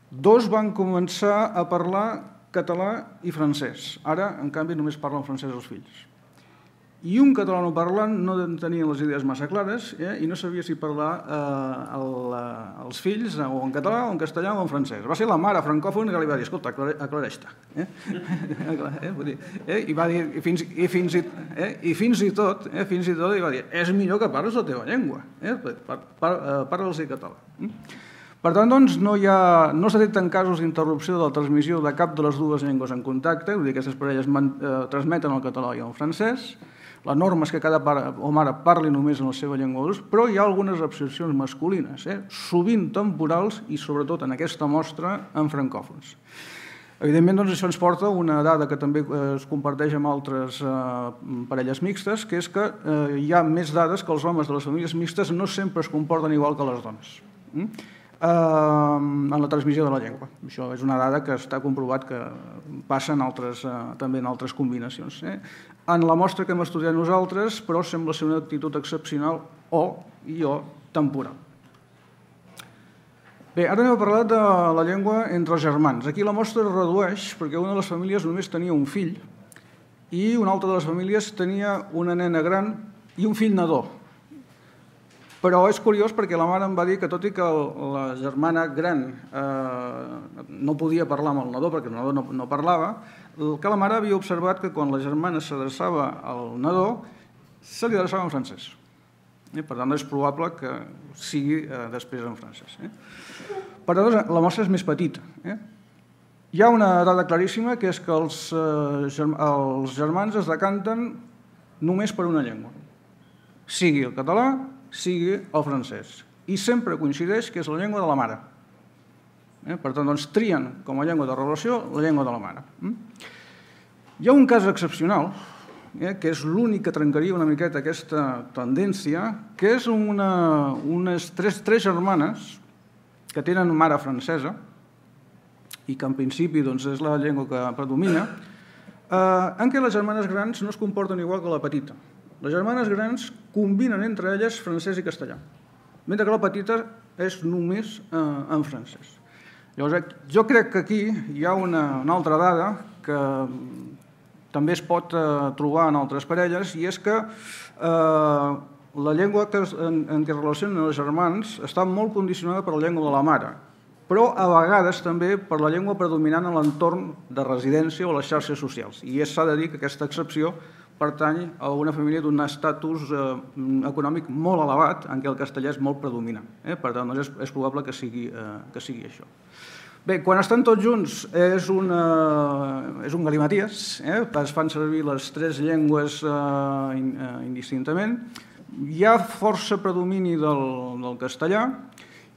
Dos van començar a parlar català i francès. Ara, en canvi, només parlen francès els fills. I un catalanoparlant no tenia les idees massa clares eh, i no sabia si parlar eh, el, els fills o en català o en castellà o en francès. Va ser la mare francòfona que li va dir, escolta, aclareix-te. Eh? eh, eh, I va dir, i fins, i fins, i, eh, i fins i tot, eh, fins i tot, i va dir, és millor que parles la teva llengua, eh? par, par, eh, parles en català. Eh? Per tant, doncs, no, hi ha, no s'ha detectat casos d'interrupció de la transmissió de cap de les dues llengües en contacte, vull dir que aquestes parelles man, eh, transmeten el català i el francès. La norma és que cada pare o mare parli només en la seva llengua d'ús, però hi ha algunes excepcions masculines, eh, sovint temporals i, sobretot, en aquesta mostra, en francòfons. Evidentment, doncs, això ens porta a una dada que també es comparteix amb altres eh, parelles mixtes, que és que eh, hi ha més dades que els homes de les famílies mixtes no sempre es comporten igual que les dones. Mm? en la transmissió de la llengua. Això és una dada que està comprovat que passa en altres, també en altres combinacions. En la mostra que hem estudiat nosaltres, però sembla ser una actitud excepcional o i o temporal. Bé, ara anem a parlar de la llengua entre els germans. Aquí la mostra es redueix perquè una de les famílies només tenia un fill i una altra de les famílies tenia una nena gran i un fill nadó. Però és curiós perquè la mare em va dir que tot i que la germana gran eh, no podia parlar amb el nadó perquè el nadó no, no parlava, que la mare havia observat que quan la germana s'adreçava al nadó se li adreçava en francès. Eh, per tant, és probable que sigui eh, després en francès. Eh. Per tant, la mostra és més petita. Eh. Hi ha una dada claríssima que és que els, eh, els germans es decanten només per una llengua, sigui el català, sigui el francès. I sempre coincideix que és la llengua de la mare. Eh? Per tant, doncs, trien com a llengua de relació la llengua de la mare. Mm? Hi ha un cas excepcional, que és l'únic que trencaria una miqueta aquesta tendència, que és unes tres germanes que tenen mare francesa i que en principi és la llengua que predomina, en què les germanes grans no es comporten igual que la petita. Les germanes grans combinen entre elles francès i castellà, mentre que la petita és només en francès. Llavors, jo crec que aquí hi ha una altra dada que també es pot trobar en altres parelles, i és que la llengua en què es relacionen els germans està molt condicionada per la llengua de la mare, però a vegades també per la llengua predominant en l'entorn de residència o les xarxes socials. I s'ha de dir que aquesta excepció pertany a una família d'un estatus econòmic molt elevat en què el castellà és molt predominant. Per tant, és probable que sigui això. Bé, quan estan tots junts és un galimaties, es fan servir les tres llengües indistintament, hi ha força predomini del castellà,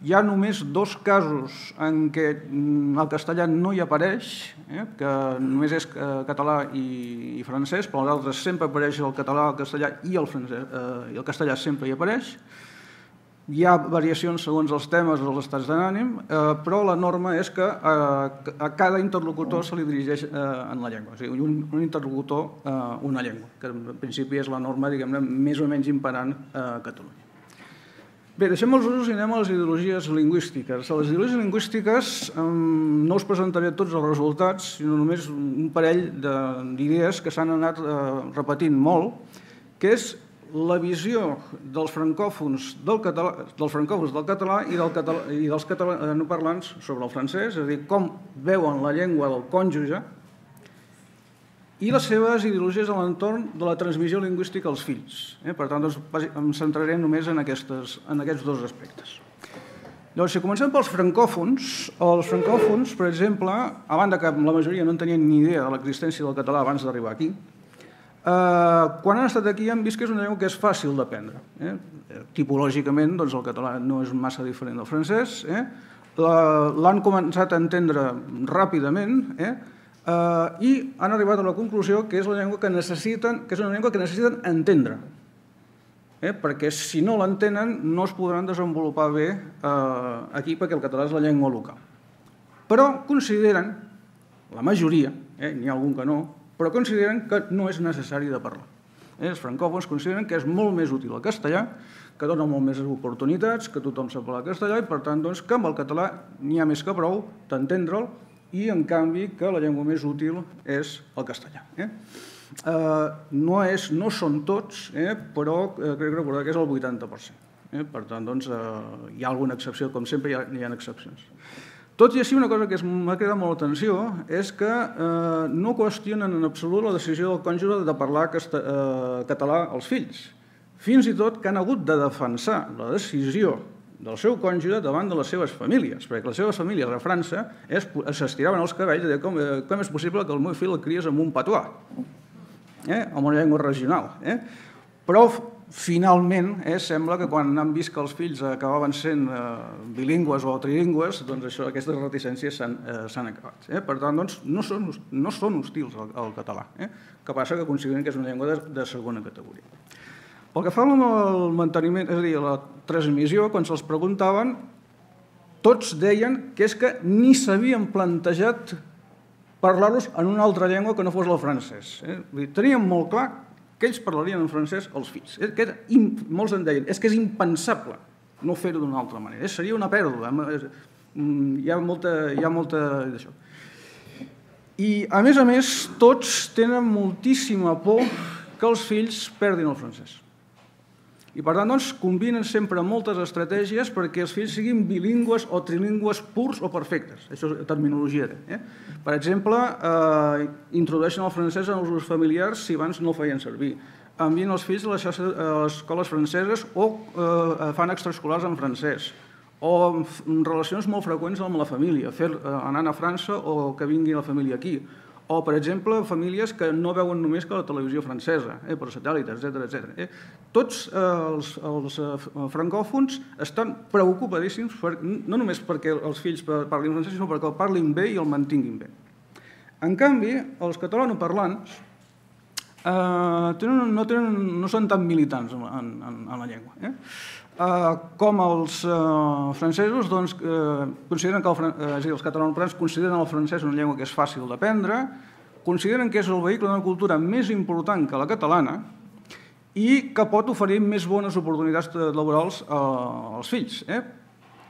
hi ha només dos casos en què el castellà no hi apareix, que només és català i francès, però els altres sempre apareix el català, el castellà i el castellà sempre hi apareix. Hi ha variacions segons els temes o els estats d'ànim, però la norma és que a cada interlocutor se li dirigeix en la llengua. O sigui, un interlocutor, una llengua, que en principi és la norma, diguem-ne, més o menys imperant a Catalunya. Bé, deixem els usos i anem a les ideologies lingüístiques. A les ideologies lingüístiques no us presentaré tots els resultats, sinó només un parell d'idees que s'han anat repetint molt, que és la visió dels francòfons del català i dels catalanoparlants sobre el francès, és a dir, com veuen la llengua del cònjuge, i les seves ideologies a l'entorn de la transmissió lingüística als fills. Per tant, em centraré només en aquests dos aspectes. Llavors, si comencem pels francòfons, els francòfons, per exemple, a banda que la majoria no en tenien ni idea de l'existència del català abans d'arribar aquí, quan han estat aquí han vist que és una llengua que és fàcil d'aprendre. Tipològicament, el català no és massa diferent del francès, l'han començat a entendre ràpidament i han arribat a la conclusió que és una llengua que necessiten entendre, perquè si no l'entenen no es podran desenvolupar bé aquí perquè el català és la llengua local. Però consideren, la majoria, n'hi ha algun que no, però consideren que no és necessari de parlar. Els francòfons consideren que és molt més útil el castellà, que dona molt més oportunitats, que tothom sap parlar castellà i, per tant, que amb el català n'hi ha més que prou d'entendre'l i, en canvi, que la llengua més útil és el castellà. No són tots, però crec recordar que és el vuitanta per cent. Per tant, hi ha alguna excepció, com sempre hi ha excepcions. Tot i així, una cosa que m'ha cridat molt l'atenció és que no qüestionen en absolut la decisió del cònjuge de parlar català als fills. Fins i tot que han hagut de defensar la decisió del seu cònjuge davant de les seves famílies, perquè les seves famílies a França s'estiraven els cabells i deien com és possible que el meu fill el cries amb un patuà, amb una llengua regional. Però finalment sembla que quan han vist que els fills acabaven sent bilingües o trilingües, doncs aquestes reticències s'han acabat. Per tant, no són hostils al català, que passa que consideren que és una llengua de segona categoria. Pel que fa al manteniment, és a dir, a la transmissió, quan se'ls preguntaven, tots deien que és que ni s'havien plantejat parlar-los en una altra llengua que no fos el francès. Tenien molt clar que ells parlarien en francès als fills. Molts en deien, és que és impensable no fer-ho d'una altra manera, seria una pèrdua, hi ha molta d'això. I, a més a més, tots tenen moltíssima por que els fills perdin el francès. I, per tant, combinen sempre moltes estratègies perquè els fills siguin bilingües o trilingües purs o perfectes. Això és terminologia. Per exemple, introdueixen el francès en els usos familiars si abans no el feien servir. Envien els fills a les escoles franceses o fan extraescolars en francès. O relacions molt freqüents amb la família, anant a França o que vingui la família aquí. O, per exemple, famílies que no veuen només que la televisió francesa, per satèl·lit, etcètera. Tots els francòfons estan preocupadíssims, no només perquè els fills parlin francès, sinó perquè el parlin bé i el mantinguin bé. En canvi, els catalanoparlants no són tan militants en la llengua. Com els francesos, consideren que els catalanoparlants consideren el francès una llengua que és fàcil d'aprendre, consideren que és el vehicle d'una cultura més important que la catalana i que pot oferir més bones oportunitats laborals als fills.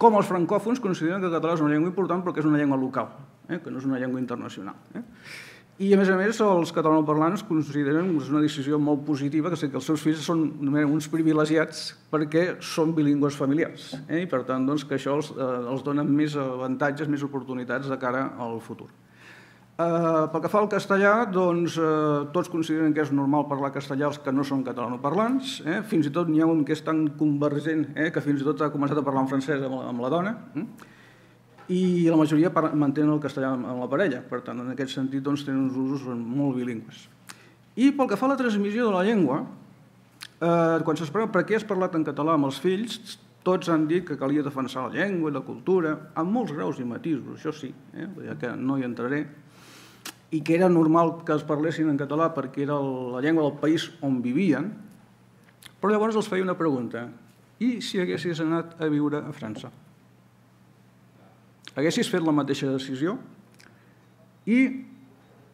Com els francòfons consideren que el català és una llengua important perquè és una llengua local, que no és una llengua internacional. I, a més a més, els catalanoparlants consideren que és una decisió molt positiva que els seus fills són uns privilegiats perquè són bilingües familiars i, per tant, que això els dona més avantatges, més oportunitats de cara al futur. Pel que fa al castellà, tots consideren que és normal parlar castellà els que no són catalanoparlants. Fins i tot n'hi ha un que és tan convergent que fins i tot ha començat a parlar en francès amb la dona i la majoria mantenen el castellà amb la parella. Per tant, en aquest sentit, tenen uns usos molt bilingües. I pel que fa a la transmissió de la llengua, quan se'ls pregunta per què has parlat en català amb els fills, tots han dit que calia defensar la llengua i la cultura, amb molts graus i matisos, això sí, que no hi entraré, i que era normal que es parlessin en català perquè era la llengua del país on vivien, però llavors els feia una pregunta: i si haguessis anat a viure a França? Haguessis fet la mateixa decisió? I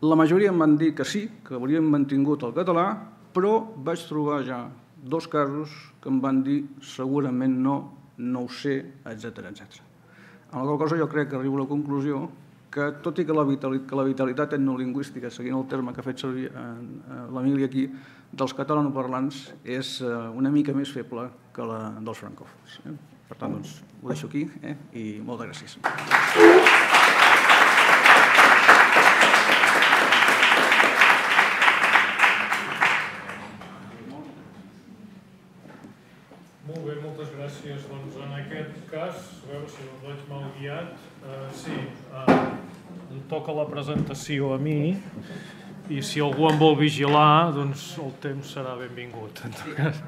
la majoria em van dir que sí, que haurien mantingut el català, però vaig trobar ja dos casos que em van dir segurament no, no ho sé, etcètera, etcètera. En la qual cosa jo crec que arribo a la conclusió que, tot i que la vitalitat etnolingüística, seguint el terme que ha fet servir l'Emili aquí, dels catalanoparlants és una mica més feble que la dels francòfons. Per tant, doncs, ho deixo aquí i moltes gràcies. Molt bé, moltes gràcies. Doncs en aquest cas, a veure si el veig mal guiat, sí, em toca la presentació a mi i si algú em vol vigilar, doncs el temps serà benvingut. En tot cas.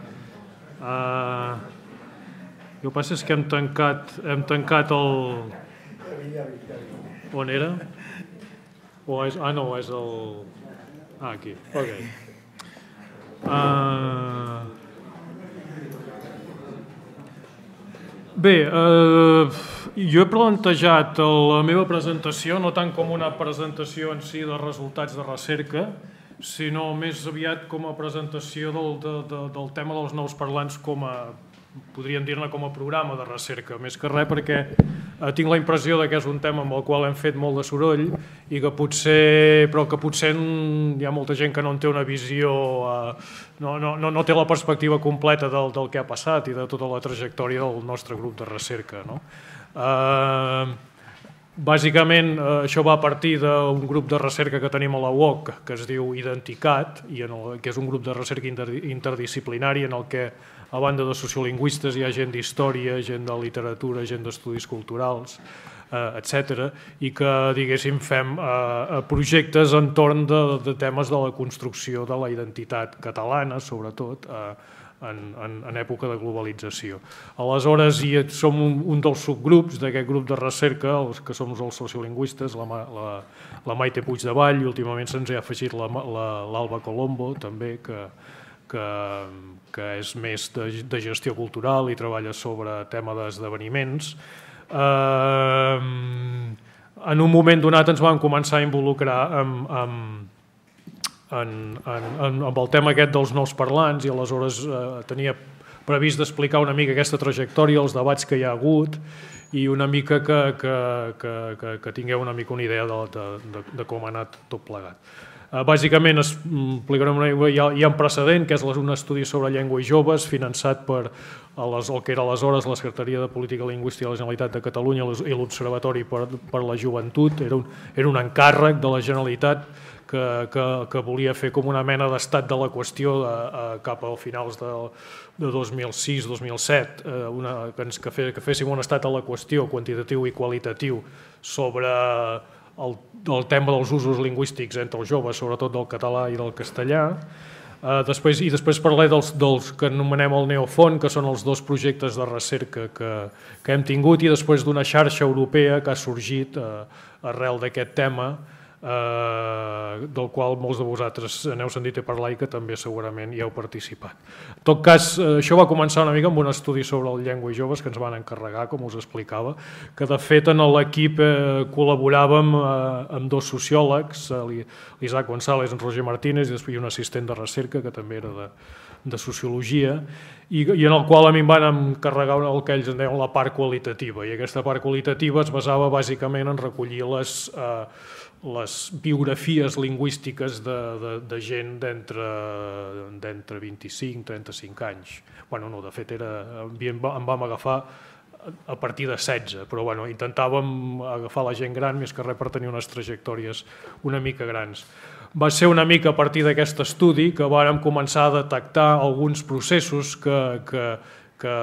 El que passa és que hem tancat, hem tancat el... On era? O és... Ah, no, és el... Ah, aquí. Ok. Uh... Bé, uh, jo he plantejat la meva presentació no tant com una presentació en si de resultats de recerca, sinó més aviat com a presentació del, de, de, del tema dels nous parlants com a, podríem dir-ne com a programa de recerca, més que res perquè eh, tinc la impressió que és un tema amb el qual hem fet molt de soroll i que potser, però que potser hi ha molta gent que no en té una visió, eh, no, no, no té la perspectiva completa del, del que ha passat i de tota la trajectòria del nostre grup de recerca. No? Eh, Bàsicament, això va a partir d'un grup de recerca que tenim a la U O C, que es diu Identicat, i en el, que és un grup de recerca interdisciplinari en el que, a banda de sociolingüistes, hi ha gent d'història, gent de literatura, gent d'estudis culturals, eh, etcètera, i que, diguéssim, fem eh, projectes entorn de, de temes de la construcció de la identitat catalana, sobretot, eh, En, en, en època de globalització. Aleshores, i som un, un dels subgrups d'aquest grup de recerca, els que som els sociolingüistes, la, la, la Maite Puigdevall, i últimament se'ns ha afegit l'Alba Colombo, també, que, que, que és més de, de gestió cultural i treballa sobre tema d'esdeveniments. Eh, en un moment donat ens vam començar a involucrar amb, amb En, en, en, amb el tema aquest dels nous parlants i aleshores eh, tenia previst d'explicar una mica aquesta trajectòria, els debats que hi ha hagut i una mica que, que, que, que, que tingueu una mica una idea de, de, de, de com ha anat tot plegat. Eh, bàsicament es, una, hi, ha, hi ha un precedent que és un estudi sobre llengua i joves finançat per les, el que era aleshores la Secretaria de Política Lingüística de la Generalitat de Catalunya i l'Observatori per, per la Joventut. Era un, era un encàrrec de la Generalitat Que, que, que volia fer com una mena d'estat de la qüestió de, eh, cap a finals de, de dos mil sis dos mil set, eh, una, que, ens, que, fe, que féssim un estat de la qüestió quantitatiu i qualitatiu sobre el, el tema dels usos lingüístics entre els joves, sobretot del català i del castellà. Eh, després, I després parlé dels, dels que anomenem el Neofont, que són els dos projectes de recerca que, que hem tingut, i després d'una xarxa europea que ha sorgit eh, arrel d'aquest tema, del qual molts de vosaltres n'heu sentit a parlar i que també segurament hi heu participat. En tot cas, això va començar una mica amb un estudi sobre el llengua i joves que ens van encarregar, com us explicava, que de fet en l'equip col·laboràvem amb dos sociòlegs, l'Isaac González i en Roger Martínez, i després un assistent de recerca que també era de de sociologia, i en el qual a mi em van encarregar el que ells en deien la part qualitativa, i aquesta part qualitativa es basava bàsicament en recollir les, les biografies lingüístiques de, de, de gent d'entre vint-i-cinc i trenta-cinc anys. Bueno, no, de fet, era, em vam agafar a partir de setze, però bueno, intentàvem agafar la gent gran més que res per tenir unes trajectòries una mica grans. Va ser una mica a partir d'aquest estudi que vàrem començar a detectar alguns processos que, que, que,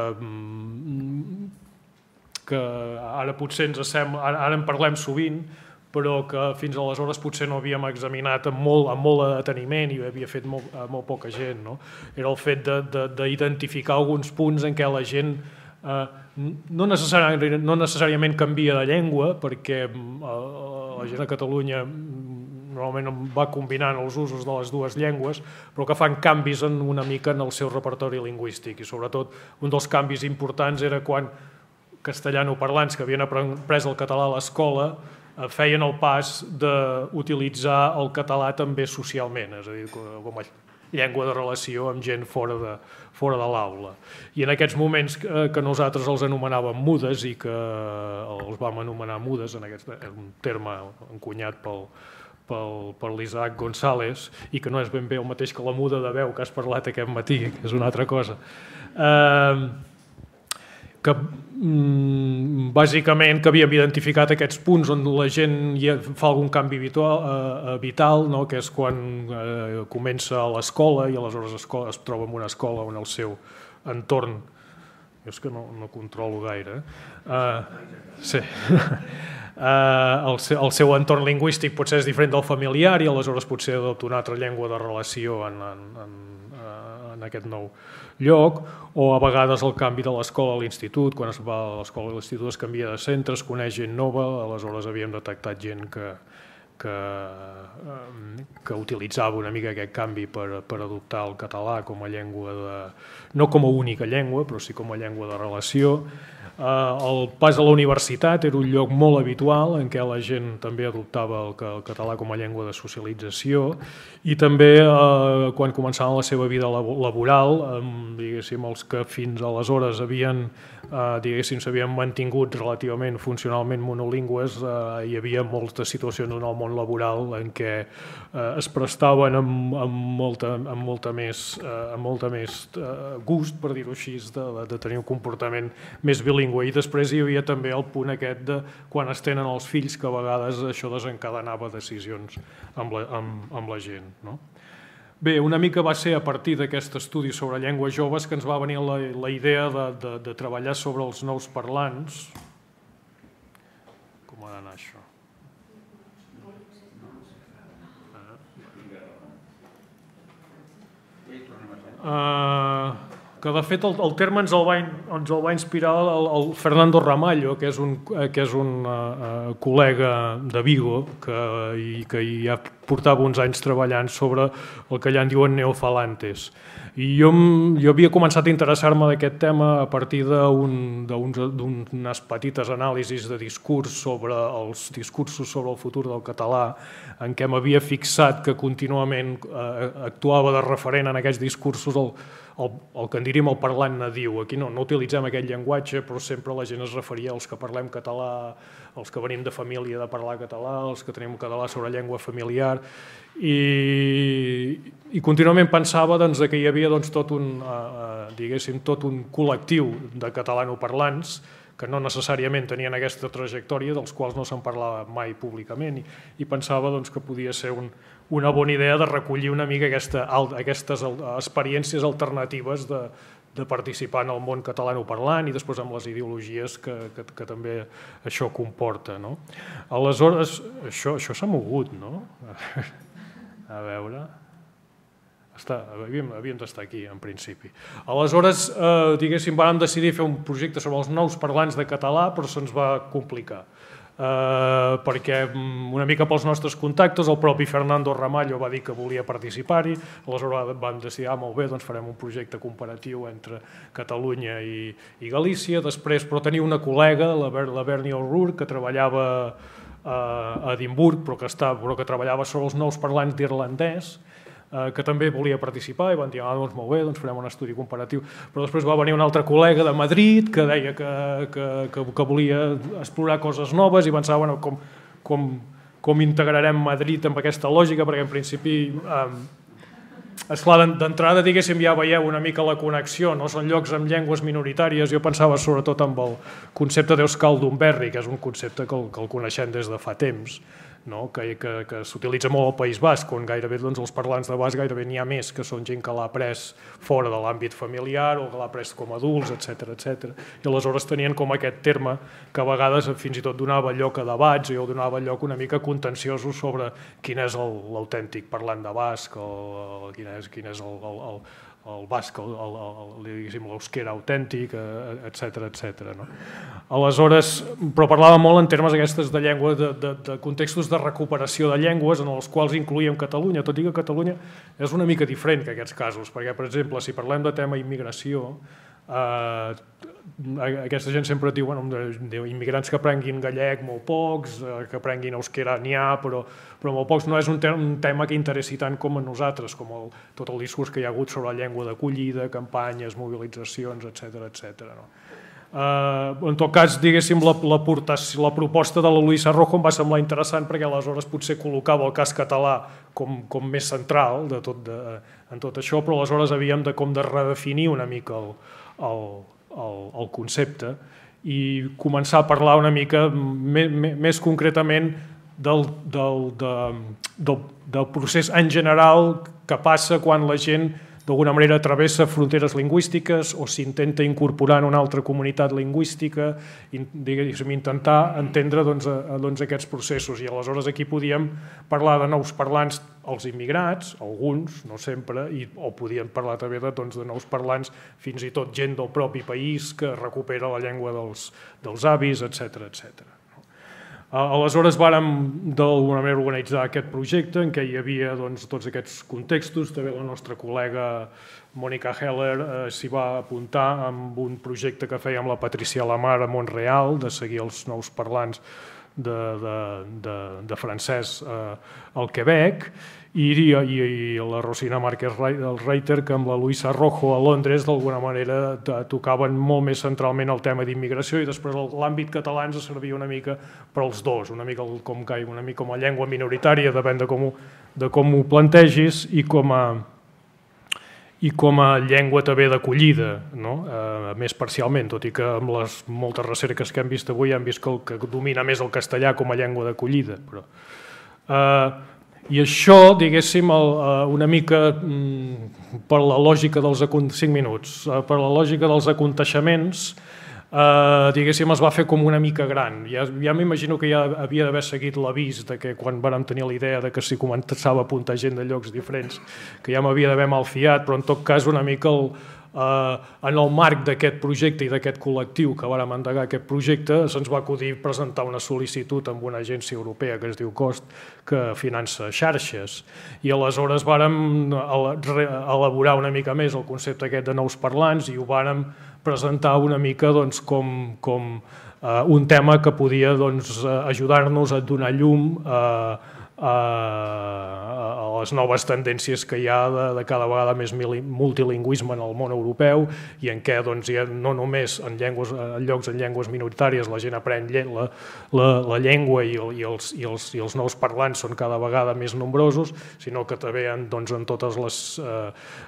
que ara potser ens sembla, ara en parlem sovint, però que fins aleshores potser no havíem examinat amb molt, amb molt de deteniment i ho havia fet molt, molt poca gent. No? Era el fet d'identificar alguns punts en què la gent eh, no, necessàriament, no necessàriament canvia de llengua, perquè la gent a Catalunya normalment va combinant els usos de les dues llengües, però que fan canvis en una mica en el seu repertori lingüístic. I sobretot un dels canvis importants era quan castellanoparlants que havien après el català a l'escola feien el pas d'utilitzar el català també socialment, és a dir, com a llengua de relació amb gent fora de, fora de l'aula. I en aquests moments que nosaltres els anomenàvem mudes i que els vam anomenar mudes, en aquest, un terme encunyat pel pel, per l'Isaac González, i que no és ben bé el mateix que la muda de veu que has parlat aquest matí, que és una altra cosa. Eh, que bàsicament que havíem identificat aquests punts on la gent fa algun canvi vital, eh, vital no? Que és quan eh, comença a l'escola i aleshores escola, es troba en una escola on el seu entorn, jo és que no, no controlo gaire, eh, sí, Uh, el, seu, el seu entorn lingüístic potser és diferent del familiar i aleshores potser adopta una altra llengua de relació en, en, en, en aquest nou lloc, o a vegades el canvi de l'escola a l'institut, quan es va a l'escola a l'institut es canvia de centre, es coneix gent nova, aleshores havíem detectat gent que, que, que utilitzava una mica aquest canvi per, per adoptar el català com a llengua, de, no com a única llengua, però sí com a llengua de relació. El pas a la universitat era un lloc molt habitual en què la gent també adoptava el català com a llengua de socialització i també eh, quan començaven la seva vida laboral, eh, diguéssim, els que fins aleshores havien, eh, diguéssim, s'havien mantingut relativament funcionalment monolingües, eh, hi havia moltes situacions en el món laboral en què eh, es prestaven amb, amb, molta, amb, molta més, eh, amb molta més eh, gust, per dir-ho així, de, de tenir un comportament més bilingüe. I després hi havia també el punt aquest de quan es tenen els fills, que a vegades això desencadenava decisions amb la, amb, amb la gent. No? Bé, una mica va ser a partir d'aquest estudi sobre llengües joves que ens va venir la, la idea de, de, de treballar sobre els nous parlants. Com ha d'anar això? Uh, que de fet el, el terme ens el va, ens el va inspirar el, el Fernando Ramallo, que és un, que és un uh, col·lega de Vigo que, i, que hi ha portava uns anys treballant sobre el que allà en diuen neofalantes. I jo, jo havia començat a interessar-me d'aquest tema a partir d'unes petites anàlisis de discurs sobre els discursos sobre el futur del català, en què m'havia fixat que contínuament eh, actuava de referent en aquests discursos el, el, el que en diríem el parlant nadiu. Aquí no, no utilitzem aquest llenguatge, però sempre la gent es referia als que parlem català, els que venim de família de parlar català, els que tenim català sobre llengua familiar, i, i contínuament pensava doncs, que hi havia doncs, tot, un, eh, diguéssim, tot un col·lectiu de catalanoparlants que no necessàriament tenien aquesta trajectòria, dels quals no se'n parlava mai públicament, i, i pensava doncs, que podia ser un, una bona idea de recollir una mica aquesta, aquestes experiències alternatives de, de participar en el món catalanoparlant i després amb les ideologies que, que, que també això comporta. No? Aleshores, això, això s'ha mogut, no? A veure... Està, havíem, havíem d'estar aquí, en principi. Aleshores, eh, diguéssim, vam decidir fer un projecte sobre els nous parlants de català, però se'ns va complicar. perquè una mica pels nostres contactes el propi Fernando Ramallo va dir que volia participar-hi, aleshores vam decidir, ah, molt bé, doncs farem un projecte comparatiu entre Catalunya i, i Galícia. Després, però tenia una col·lega, la, Ber la Bernie O'Rourke, que treballava a Edimburg, però que, està, però que treballava sobre els nous parlants d'irlandès, que també volia participar i van dir, ah, doncs molt bé, doncs farem un estudi comparatiu. Però després va venir una altra col·lega de Madrid que deia que, que, que, que volia explorar coses noves i pensava, bueno, com, com, com integrarem Madrid amb aquesta lògica, perquè en principi, eh, esclar, d'entrada, diguéssim, ja veieu una mica la connexió, no? Són llocs amb llengües minoritàries. Jo pensava sobretot amb el concepte d'Euskal Dumberri, que és un concepte que el, que el coneixem des de fa temps, no? que, que, que s'utilitza molt al País Basc, on gairebé doncs, els parlants de basc gairebé n'hi ha més, que són gent que l'ha après fora de l'àmbit familiar o que l'ha après com a adults, etcètera etcètera. I aleshores tenien com aquest terme que a vegades fins i tot donava lloc a debats o donava lloc una mica contenciosos sobre quin és l'autèntic parlant de basc o quin és, quin és el, el, el, el basc, l'eusquera autèntic, etcètera etcètera. No? Aleshores, però parlava molt en termes aquestes de llengua, de, de, de contextos de recuperació de llengües en els quals incloïem Catalunya, tot i que Catalunya és una mica diferent que aquests casos, perquè, per exemple, si parlem de tema immigració, eh, aquesta gent sempre diu, bueno, immigrants que aprenguin gallec, molt pocs, que aprenguin euskera n'hi ha, però, però molt pocs. No és un, te un tema que interessi tant com a nosaltres, com el, tot el discurs que hi ha hagut sobre la llengua d'acollida, campanyes, mobilitzacions, etcètera etcètera. No? Uh, en tot cas, diguéssim, la, la, la proposta de la Luisa Rojo em va semblar interessant perquè aleshores potser col·locava el cas català com, com més central de tot de, en tot això, però aleshores havíem de, com de redefinir una mica el, el, el, el concepte i començar a parlar una mica me, me, més concretament del, del, de, del, del procés en general que passa quan la gent d'alguna manera travessa fronteres lingüístiques o s'intenta incorporar en una altra comunitat lingüística, diguéssim, intentar entendre doncs, a, doncs, aquests processos. I aleshores aquí podíem parlar de nous parlants als immigrats, alguns, no sempre, i, o podíem parlar també de, doncs, de nous parlants, fins i tot gent del propi país que recupera la llengua dels, dels avis, etcètera etcètera. Aleshores vàrem d'alguna manera organitzar aquest projecte en què hi havia doncs, tots aquests contextos. També la nostra col·lega Mònica Heller eh, s'hi va apuntar amb un projecte que feia amb la Patricia Lamar a Montreal de seguir els nous parlants de, de, de, de francès eh, al Quebec i, i, i la Rosina Márquez Reiter que amb la Luisa Rojo a Londres d'alguna manera tocaven molt més centralment el tema d'immigració i després l'àmbit català ens servia una mica per als dos, una mica com, una mica com a llengua minoritària, depèn de com ho, de com ho plantegis i com a i com a llengua també d'acollida, no? eh, més parcialment, tot i que amb les moltes recerques que hem vist avui hem vist que, el, que domina més el castellà com a llengua d'acollida. Però, eh, I això, diguéssim, el, eh, una mica mm, per la lògica dels cinc minuts, eh, per la lògica dels aconteixements, Uh, diguéssim, es va fer com una mica gran. Ja, ja m'imagino que ja havia d'haver seguit l'avís de que quan vàrem tenir la idea de que si començava a apuntar gent de llocs diferents, que ja m'havia d'haver malfiat, però en tot cas una mica el, uh, en el marc d'aquest projecte i d'aquest col·lectiu que vàrem endegar aquest projecte se'ns va acudir presentar una sol·licitud amb una agència europea que es diu COST que finança xarxes i aleshores vàrem elaborar una mica més el concepte aquest de nous parlants i ho vàrem presentar una mica doncs, com, com uh, un tema que podia doncs, ajudar-nos a donar llum uh, a, a les noves tendències que hi ha de, de cada vegada més multilingüisme en el món europeu i en què doncs, ja no només en, llengües, en llocs en llengües minoritàries la gent aprèn la, la, la llengua i, i, els, i, els, i els nous parlants són cada vegada més nombrosos, sinó que també en, doncs, en tots eh,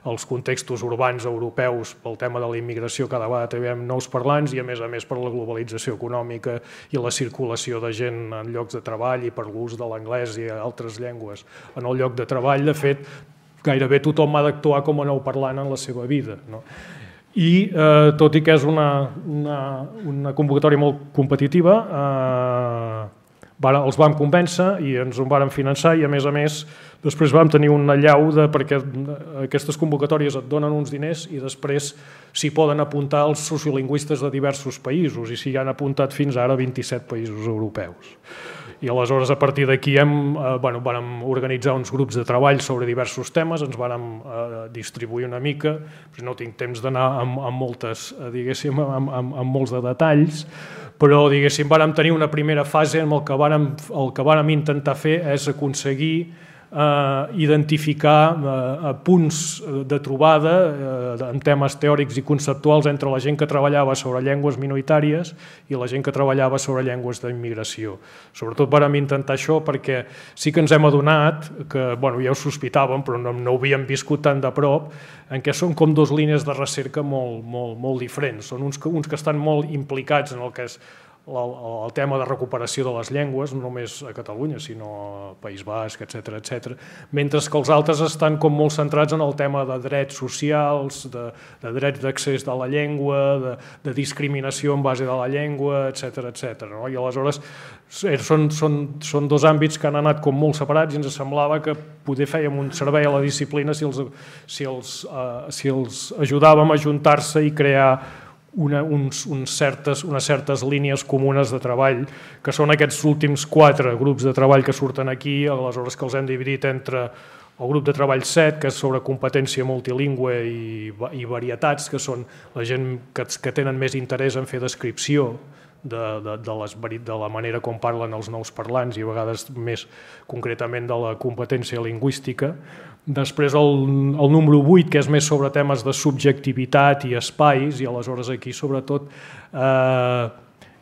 els contextos urbans europeus pel tema de la immigració cada vegada també hi ha nous parlants i a més a més per la globalització econòmica i la circulació de gent en llocs de treball i per l'ús de l'anglès i altres llengües en el lloc de treball, de fet, gairebé tothom ha d'actuar com a nou parlant en la seva vida. No? I eh, tot i que és una, una, una convocatòria molt competitiva, eh, els vam convèncer i ens ho vàrem finançar i a més a més Després vam tenir una allau de, perquè aquestes convocatòries et donen uns diners i després s'hi poden apuntar els sociolingüistes de diversos països i s'hi han apuntat fins ara vint-i-set països europeus. I aleshores, a partir d'aquí, hem, eh, bueno, vam organitzar uns grups de treball sobre diversos temes, ens vam eh, distribuir una mica, però no tinc temps d'anar amb, amb, moltes, eh, diguéssim, amb, amb, amb molts de detalls, però diguéssim, vam tenir una primera fase en el que vam, el que vam intentar fer és aconseguir eh, identificar eh, punts de trobada eh, en temes teòrics i conceptuals entre la gent que treballava sobre llengües minoritàries i la gent que treballava sobre llengües d'immigració. Sobretot vam intentar això perquè sí que ens hem adonat, que bueno, ja ho sospitàvem però no, no ho havíem viscut tan de prop, en què són com dues línies de recerca molt, molt, molt diferents. Són uns que, uns que estan molt implicats en el que és El, el tema de recuperació de les llengües, no només a Catalunya, sinó a País Basc, etcètera, etcètera, mentre que els altres estan com molt centrats en el tema de drets socials, de, de drets d'accés de la llengua, de, de discriminació en base de la llengua, etcètera, etcètera. No? I aleshores són, són, són dos àmbits que han anat com molt separats i ens semblava que poder fèiem un servei a la disciplina si els, si els, uh, si els ajudàvem a ajuntar-se i crear Una, uns, uns certes, unes certes línies comunes de treball, que són aquests últims quatre grups de treball que surten aquí, aleshores que els hem dividit entre el grup de treball set, que és sobre competència multilingüe i, i varietats, que són la gent que, que tenen més interès en fer descripció de, de, de, les, de la manera com parlen els nous parlants i a vegades més concretament de la competència lingüística. Després el, el número vuit, que és més sobre temes de subjectivitat i espais, i aleshores aquí sobretot eh,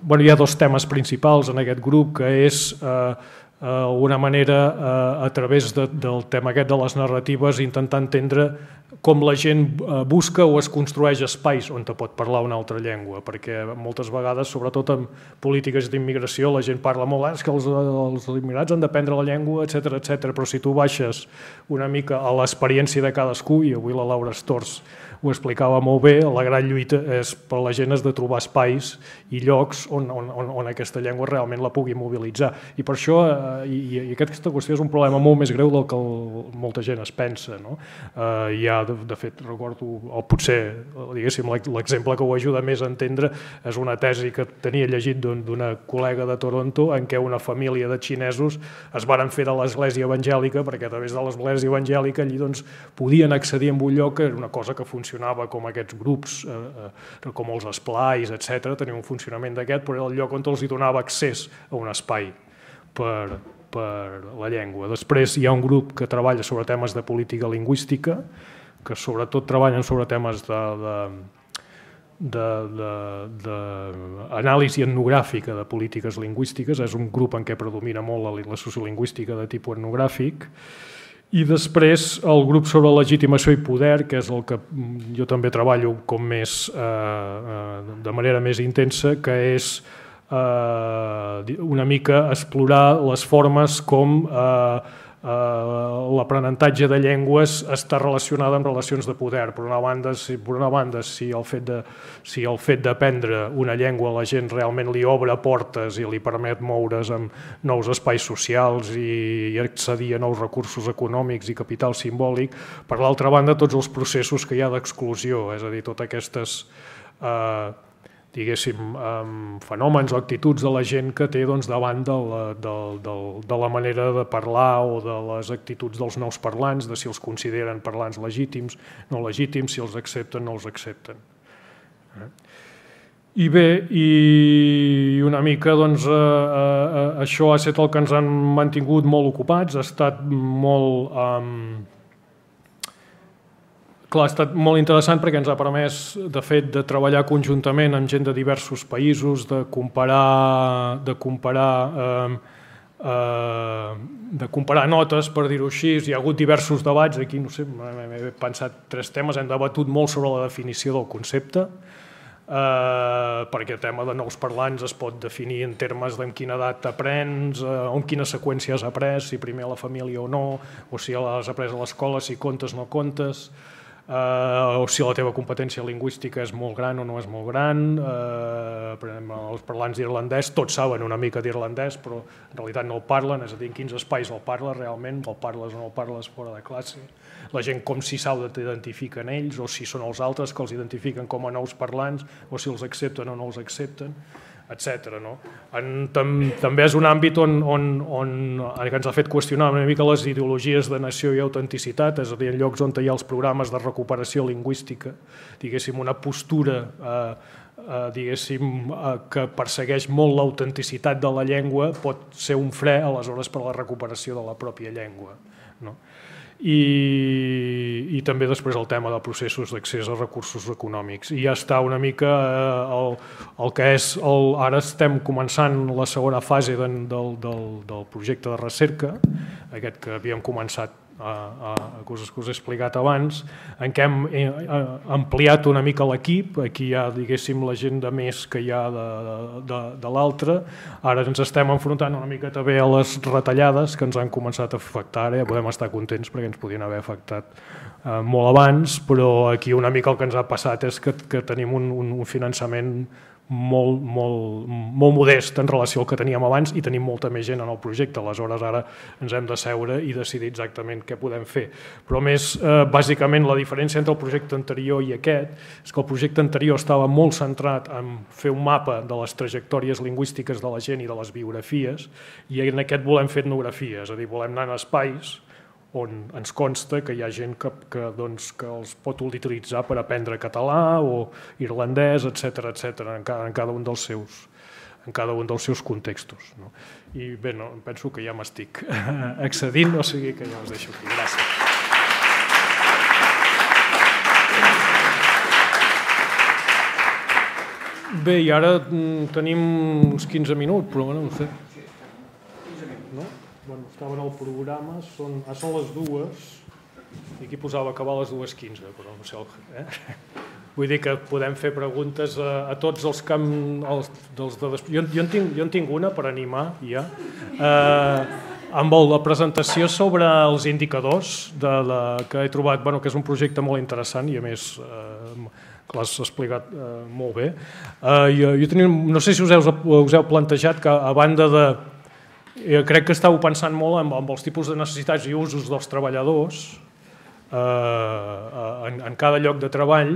bueno, hi ha dos temes principals en aquest grup, que és eh, d'alguna manera eh, a través de, del tema aquest de les narratives intentar entendre com la gent busca o es construeix espais on te pot parlar una altra llengua, perquè moltes vegades, sobretot en polítiques d'immigració, la gent parla molt, és que els, els immigrats han d'aprendre la llengua, etcètera, etcètera, però si tu baixes una mica a l'experiència de cadascú, i avui la Laura Stors ho explicava molt bé, la gran lluita és per la gent és de trobar espais i llocs on, on, on aquesta llengua realment la pugui mobilitzar. I per això, eh, i, i aquesta qüestió és un problema molt més greu del que el, molta gent es pensa. No? Eh, hi ha, de, de fet, recordo, o potser, diguéssim, l'exemple que ho ajuda més a entendre és una tesi que tenia llegit d'una col·lega de Toronto en què una família de xinesos es varen fer de l'església evangèlica perquè a través de l'església evangèlica allí doncs, podien accedir a un lloc que era una cosa que funcionava funcionava com aquests grups, eh, com els esplais, etcètera, tenia un funcionament d'aquest, però era el lloc on els hi donava accés a un espai per, per la llengua. Després hi ha un grup que treballa sobre temes de política lingüística, que sobretot treballen sobre temes de, de, d'anàlisi etnogràfica de polítiques lingüístiques, és un grup en què predomina molt la, la sociolingüística de tipus etnogràfic. I després el grup sobre legitimació i poder, que és el que jo també treballo com més, eh, de manera més intensa, que és eh, una mica explorar les formes com eh, Uh, l'aprenentatge de llengües està relacionada amb relacions de poder. Per una banda, si, per una banda, si el fet de, si el fet d'aprendre una llengua a la gent realment li obre portes i li permet moure's en nous espais socials i, i accedir a nous recursos econòmics i capital simbòlic. Per l'altra banda, tots els processos que hi ha d'exclusió, és a dir, totes aquestes uh, diguéssim, um, fenòmens o actituds de la gent que té doncs, davant de la, de, de, de la manera de parlar o de les actituds dels nous parlants, de si els consideren parlants legítims, no legítims, si els accepten, no els accepten. I bé, i una mica doncs, eh, eh, això ha estat el que ens han mantingut molt ocupats, ha estat molt... Um, Clar, ha estat molt interessant perquè ens ha permès, de fet, de treballar conjuntament amb gent de diversos països, de comparar, de comparar, eh, eh, de comparar notes, per dir-ho així. Hi ha hagut diversos debats, aquí no sé, m'he pensat tres temes, hem debatut molt sobre la definició del concepte, eh, perquè el tema de nous parlants es pot definir en termes d'en quina edat aprens, eh, en quina seqüència has après, si primer a la família o no, o si l'has après a l'escola, si comptes o no comptes. Uh, o si la teva competència lingüística és molt gran o no és molt gran. Uh, per exemple, els parlants d'irlandès tots saben una mica d'irlandès, però en realitat no el parlen, és a dir, en quins espais el parles realment, el parles o no el parles fora de classe. La gent com si s'identifiquen ells, o si són els altres que els identifiquen com a nous parlants, o si els accepten o no els accepten, etcètera. No? En, tam, també és un àmbit on, on, on, que ens ha fet qüestionar una mica les ideologies de nació i autenticitat, és a dir, en llocs on hi ha els programes de recuperació lingüística, diguéssim, una postura eh, eh, diguéssim, eh, que persegueix molt l'autenticitat de la llengua, pot ser un fre, aleshores, per a la recuperació de la pròpia llengua. No? I, i també després el tema de processos d'accés a recursos econòmics. I ja està una mica eh, el, el que és... El, ara estem començant la segona fase de, del, del, del projecte de recerca, aquest que havíem començat a, a, a coses que us he explicat abans, en què hem eh, ampliat una mica l'equip. Aquí hi ha, diguéssim, la gent de més que hi ha de, de, de l'altra. Ara ens estem enfrontant una mica també a les retallades que ens han començat a afectar. Ara ja podem estar contents perquè ens podien haver afectat eh, molt abans, però aquí una mica el que ens ha passat és que, que tenim un, un, un finançament molt, molt, molt modest en relació al que teníem abans i tenim molta més gent en el projecte. Aleshores, ara ens hem de seure i decidir exactament què podem fer. Però més, eh, bàsicament, la diferència entre el projecte anterior i aquest és que el projecte anterior estava molt centrat en fer un mapa de les trajectòries lingüístiques de la gent i de les biografies, i en aquest volem fer etnografies, és a dir, volem anar a espais on ens consta que hi ha gent que, que, doncs, que els pot utilitzar per aprendre català o irlandès, etcètera, etcètera, en, cada, en cada un dels seus, en cada un dels seus contextos. No? I bé, no, penso que ja m'estic accedint, o sigui que ja us deixo aquí. Gràcies. Bé, i ara tenim uns quinze minuts, però bueno, no sé. No? Bueno, estava en el programa, són, ah, són les dues, i aquí posava acabar a les dues quinze, però no sé, eh? Vull dir que podem fer preguntes a, a tots els que... Els, dels de, jo, jo, en tinc, jo en tinc una per animar, ja, eh, amb el, la presentació sobre els indicadors de la, que he trobat, bueno, que és un projecte molt interessant i a més eh, que l'has explicat eh, molt bé. Eh, jo, jo tenia, no sé si us heu, us heu plantejat que a banda de... Jo crec que estàu pensant molt en, en els tipus de necessitats i usos dels treballadors eh, en, en cada lloc de treball,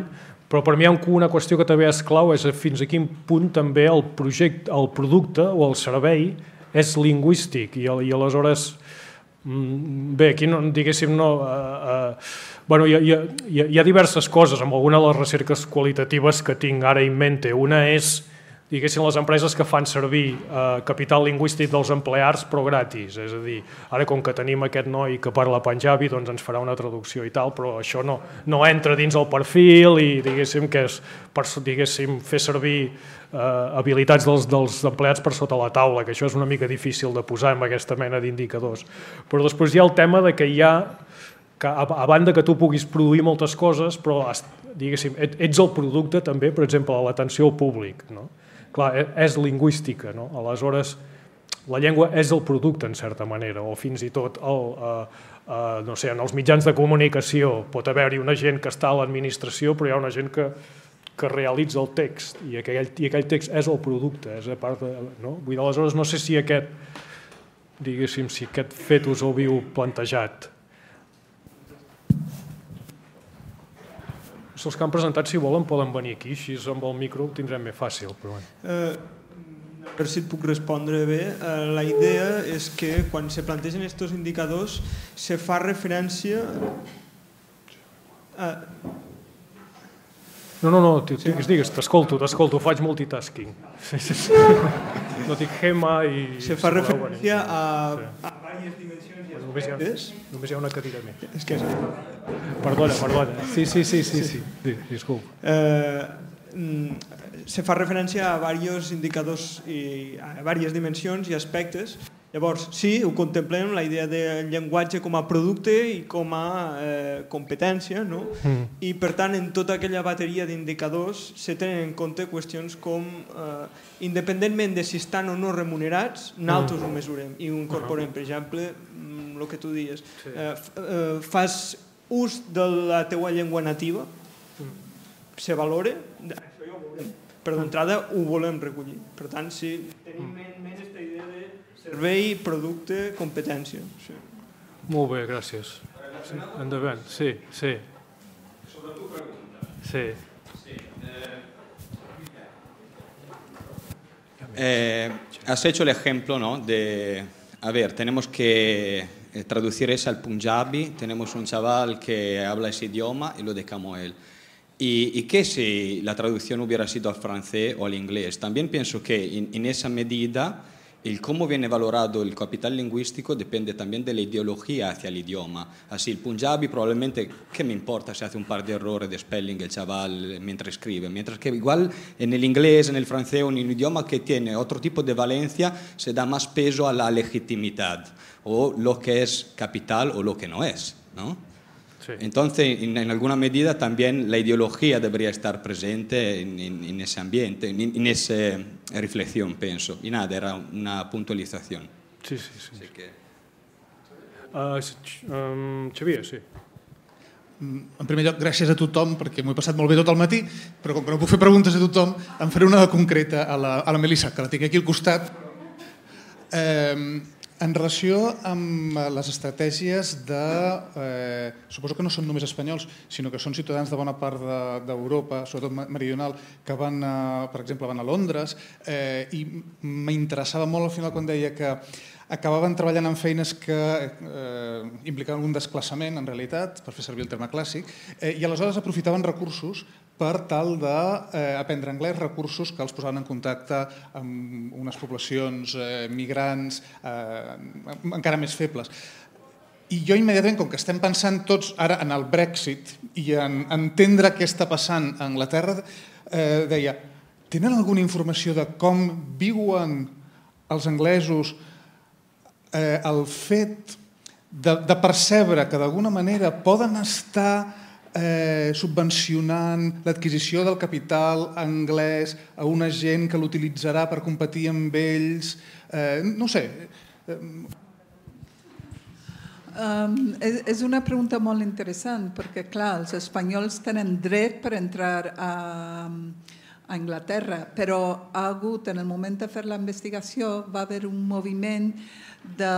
però per mi hi ha una qüestió que també és clau, és fins a quin punt també el projecte, el producte o el servei és lingüístic i, i aleshores, bé, aquí no, diguéssim no... Eh, eh, bueno, hi, ha, hi, ha, hi ha diverses coses, amb alguna de les recerques qualitatives que tinc ara en mente. Una és diguéssim, les empreses que fan servir eh, capital lingüístic dels empleats però gratis, és a dir, ara com que tenim aquest noi que parla panjabi, doncs ens farà una traducció i tal, però això no, no entra dins el perfil i diguéssim que és per, diguéssim, fer servir eh, habilitats dels, dels empleats per sota la taula, que això és una mica difícil de posar en aquesta mena d'indicadors. Però després hi ha el tema de que hi ha, que a, a banda que tu puguis produir moltes coses, però diguéssim, ets el producte també, per exemple, l'atenció al públic, no? Clar, és lingüística, no? Aleshores, la llengua és el producte, en certa manera, o fins i tot el, eh, eh, no sé, en els mitjans de comunicació pot haver-hi una gent que està a l'administració, però hi ha una gent que, que realitza el text, i aquell, i aquell text és el producte, és a part de, no? Vull dir, aleshores, no sé si aquest, diguéssim, si aquest fet us ho havíeu plantejat. Els que han presentat, si volen, poden venir aquí, així amb el micro ho tindrem més fàcil. Però bueno. eh, a veure si et puc respondre bé. Eh, la idea és que quan se plantegen aquests indicadors se fa referència... A... No, no, no, digues, digues, t'escolto, t'escolto, faig multitasking. No dic gema i... Se fa referència a, a diverses dimensions i només hi, ha, aspectes. només hi ha una cadira més. És que... Perdona, perdona. Sí, sí, sí, sí, sí. Disculpa. Eh, se fa referència a diversos indicadors i a diverses dimensions i aspectes. Llavors, sí, ho contemplem, la idea del llenguatge com a producte i com a eh, competència, no? Mm. I per tant, en tota aquella bateria d'indicadors se tenen en compte qüestions com, eh, independentment de si estan o no remunerats, nosaltres mm. ho mesurem i ho incorporem. Per exemple, el que tu dies, sí. eh, eh, fas ús de la teua llengua nativa se valora, això ja ho veurem. Per d'entrada ho volem recollir. Per tant, sí, tenim en ment aquesta idea de servei, producte, competència. Sí. Molt bé, gràcies. Sí, endavant, sí, sí. Sobre tu pregunta. Sí. Sí. Eh, has hecho el ejemplo, ¿no? De, a ver, tenemos que traducir eso al punjabi, tenemos un chaval que habla ese idioma y lo dejamos a él. ¿Y, y qué si la traducción hubiera sido al francés o al inglés? También pienso que en, en esa medida el cómo viene valorado el capital lingüístico depende también de la ideología hacia el idioma. Así, el punjabi probablemente, ¿qué me importa si hace un par de errores de spelling el chaval mientras escribe? Mientras que igual en el inglés, en el francés o en un idioma que tiene otro tipo de valencia, se da más peso a la legitimidad, o lo que es capital o lo que no es, ¿no? Sí. Entonces, en, en alguna medida también la ideología debería estar presente en, en, en ese ambiente, en, en esa reflexión, pienso. Y nada, era una puntualización. Sí, sí, sí. Así que... Uh, um, Xavier, sí. En primer lloc, gràcies a tothom, perquè m'ho he passat molt bé tot el matí, però com que no puc fer preguntes a tothom, em faré una concreta a la, a la Melissa, que la tinc aquí al costat. Eh, En relació amb les estratègies de... Eh, suposo que no són només espanyols, sinó que són ciutadans de bona part d'Europa, de, sobretot meridional, que van, a, per exemple, van a Londres, eh, i m'interessava molt al final quan deia que acabaven treballant en feines que eh, implicaven un desplaçament, en realitat, per fer servir el terme clàssic, eh, i aleshores aprofitaven recursos per tal d'aprendre eh, anglès, recursos que els posaven en contacte amb unes poblacions eh, migrants eh, encara més febles. I jo immediatament, com que estem pensant tots ara en el Brexit i en entendre què està passant a Anglaterra, eh, deia, tenen alguna informació de com viuen els anglesos eh, el fet de, de percebre que d'alguna manera poden estar Eh, subvencionant l'adquisició del capital anglès a una gent que l'utilitzarà per competir amb ells, eh, no sé. Um, és, és una pregunta molt interessant perquè, clar, els espanyols tenen dret per entrar a, a Anglaterra, però ha hagut, en el moment de fer la investigació, va haver un moviment de,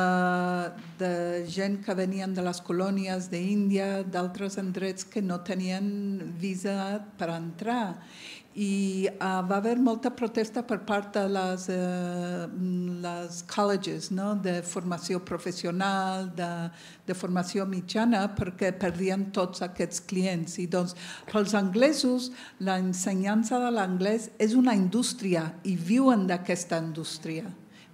de gent que venien de les colònies d'Índia, d'altres endrets que no tenien visa per entrar. I uh, va haver molta protesta per part de les, uh, les colleges, no? De formació professional, de, de formació mitjana, perquè perdien tots aquests clients. I doncs, pels anglesos, l'ensenyança de l'anglès és una indústria i viuen d'aquesta indústria.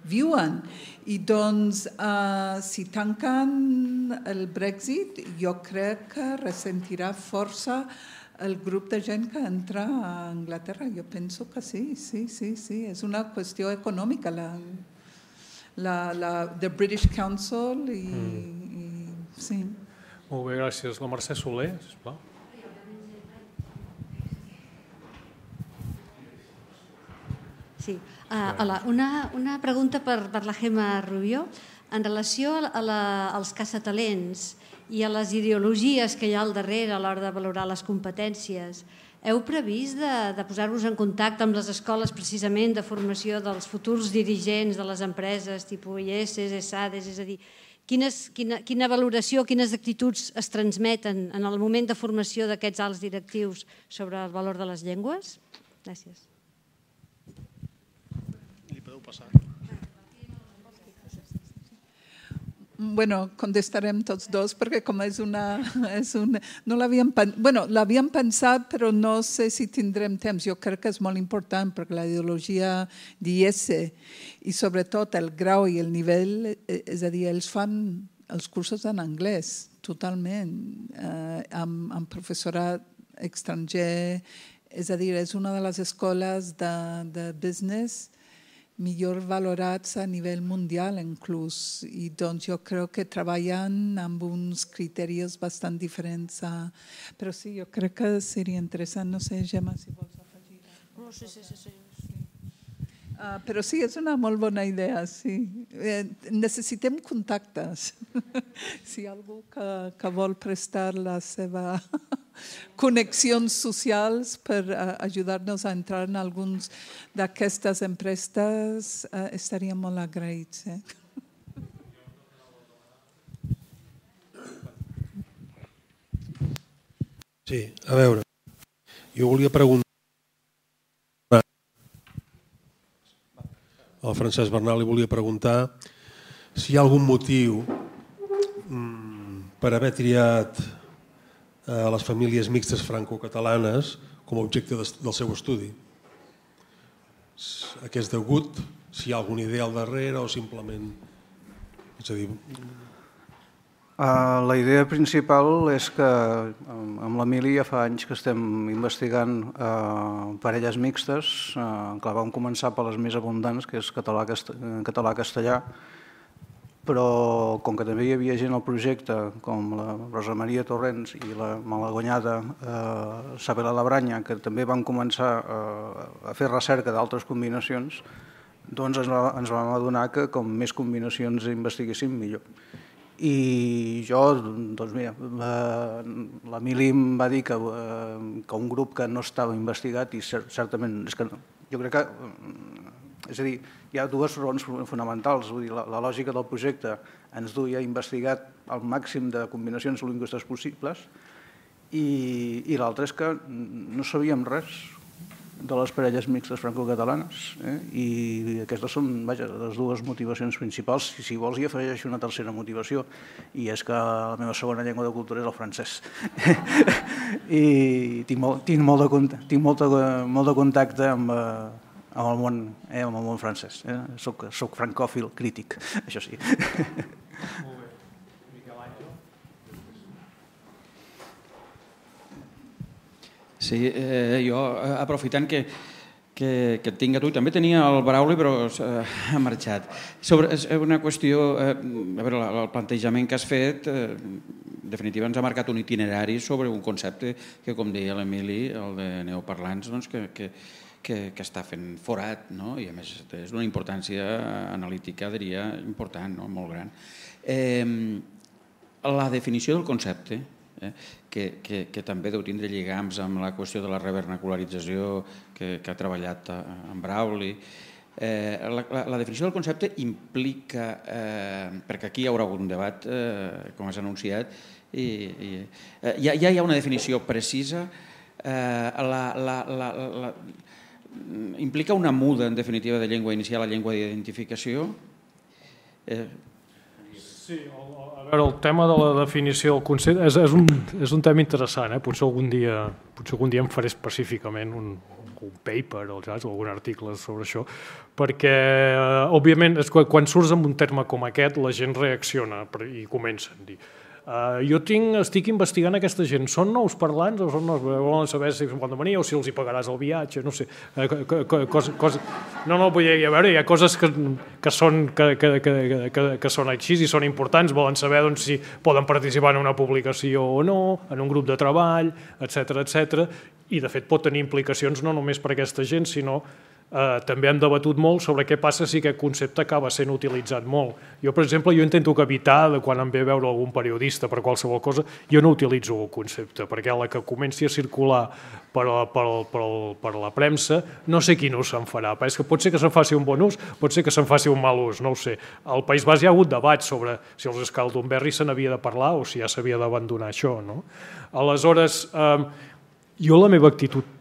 Viuen. I doncs, uh, si tanquen el Brexit, jo crec que ressentirà força el grup de gent que entra a Anglaterra. Jo penso que sí, sí, sí, sí. És una qüestió econòmica. La, la, la The British Council i, mm. i sí. Molt bé, gràcies. La Mercè Soler, sisplau. Sí. Uh, hola, una, una pregunta per, per la Gemma Rubió. En relació a la, als caçatalents i a les ideologies que hi ha al darrere a l'hora de valorar les competències, heu previst de, de posar-vos en contacte amb les escoles precisament de formació dels futurs dirigents de les empreses, tipus I E S, ESADES, és a dir, quines, quina, quina valoració, quines actituds es transmeten en el moment de formació d'aquests alts directius sobre el valor de les llengües? Gràcies. Bueno, contestarem tots dos perquè com és una... És una no l'havíem bueno, l'havíem pensat, però no sé si tindrem temps. Jo crec que és molt important perquè la ideologia d'I E S i sobretot el grau i el nivell, és a dir, ells fan els cursos en anglès totalment, eh, amb, amb professorat estranger. És a dir, és una de les escoles de, de business millor valorats a nivell mundial inclús, i doncs jo crec que treballen amb uns criteris bastant diferents. A... Però sí, jo crec que seria interessant. No sé, Gemma, si vols afegir. No, sí, sí, sí. sí. Uh, però sí, és una molt bona idea, sí. Eh, necessitem contactes. Si hi ha algú que, que vol prestar la seva connexions socials per uh, ajudar-nos a entrar en alguns d'aquestes empreses, uh, estaríem molt agraïts. Eh? Sí, a veure, jo volia preguntar al Francesc Bernal, li volia preguntar si hi ha algun motiu per haver triat a les famílies mixtes franco-catalanes com a objecte del seu estudi. A què és degut? Si hi ha alguna idea al darrere o simplement... És a dir... La idea principal és que amb l'Emili ja fa anys que estem investigant parelles mixtes. Clar, vam començar per les més abundants, que és català-castellà, però com que també hi havia gent al projecte, com la Rosa Maria Torrents i la malaguanyada Sabela Labranya, que també van començar a fer recerca d'altres combinacions, doncs ens vam adonar que com més combinacions investiguéssim, millor. I jo, doncs mira, l'Emili em va dir que un grup que no estava investigat i certament, és que jo crec que, és a dir, hi ha dues raons fonamentals, vull dir, la lògica del projecte ens duia a investigar el màxim de combinacions lingüístiques possibles i l'altra és que no sabíem res de les parelles mixtes franco-catalanes i aquestes són, vaja, les dues motivacions principals. Si vols hi afegeixo una tercera motivació i és que la meva segona llengua de cultura és el francès i tinc molt de contacte amb el món francès. Soc francòfil crític, això sí. Sí, jo, aprofitant que que et tinc a tu, també tenia el Brauli, però ha marxat. És una qüestió, a veure, el plantejament que has fet, en definitiva ens ha marcat un itinerari sobre un concepte que, com deia l'Emili, el de neoparlants, que està fent forat, i a més és d'una importància analítica, diria, important, molt gran. La definició del concepte, que també deu tindre lligams amb la qüestió de la revernacularització que ha treballat en Brauli. La definició del concepte implica, perquè aquí hi haurà un debat, com has anunciat, ja hi ha una definició precisa, implica una muda, en definitiva, de llengua inicial a llengua d'identificació? Sí, a veure, el tema de la definició del concepte és un tema interessant, potser algun dia en faré específicament un paper o algun article sobre això, perquè, òbviament, quan surts amb un terme com aquest, la gent reacciona i comença a dir jo estic investigant aquesta gent, són nous parlants o són nous, volen saber si poden venir o si els hi pagaràs el viatge, no sé. No, no, vull dir, a veure, hi ha coses que són així i són importants, volen saber si poden participar en una publicació o no, en un grup de treball, etcètera, etcètera, i de fet pot tenir implicacions no només per aquesta gent, sinó també hem debatut molt sobre què passa si aquest concepte acaba sent utilitzat molt. Jo, per exemple, jo intento que evitar, quan em ve a veure algun periodista per qualsevol cosa, jo no utilitzo el concepte, perquè a la que comenci a circular per la premsa, no sé quin ús se'n farà. És que pot ser que se'n faci un bon ús, pot ser que se'n faci un mal ús, no ho sé. Al País Basc hi ha hagut debats sobre si els Escaldunberri se n'havia de parlar o si ja s'havia d'abandonar això. Aleshores, jo la meva actitud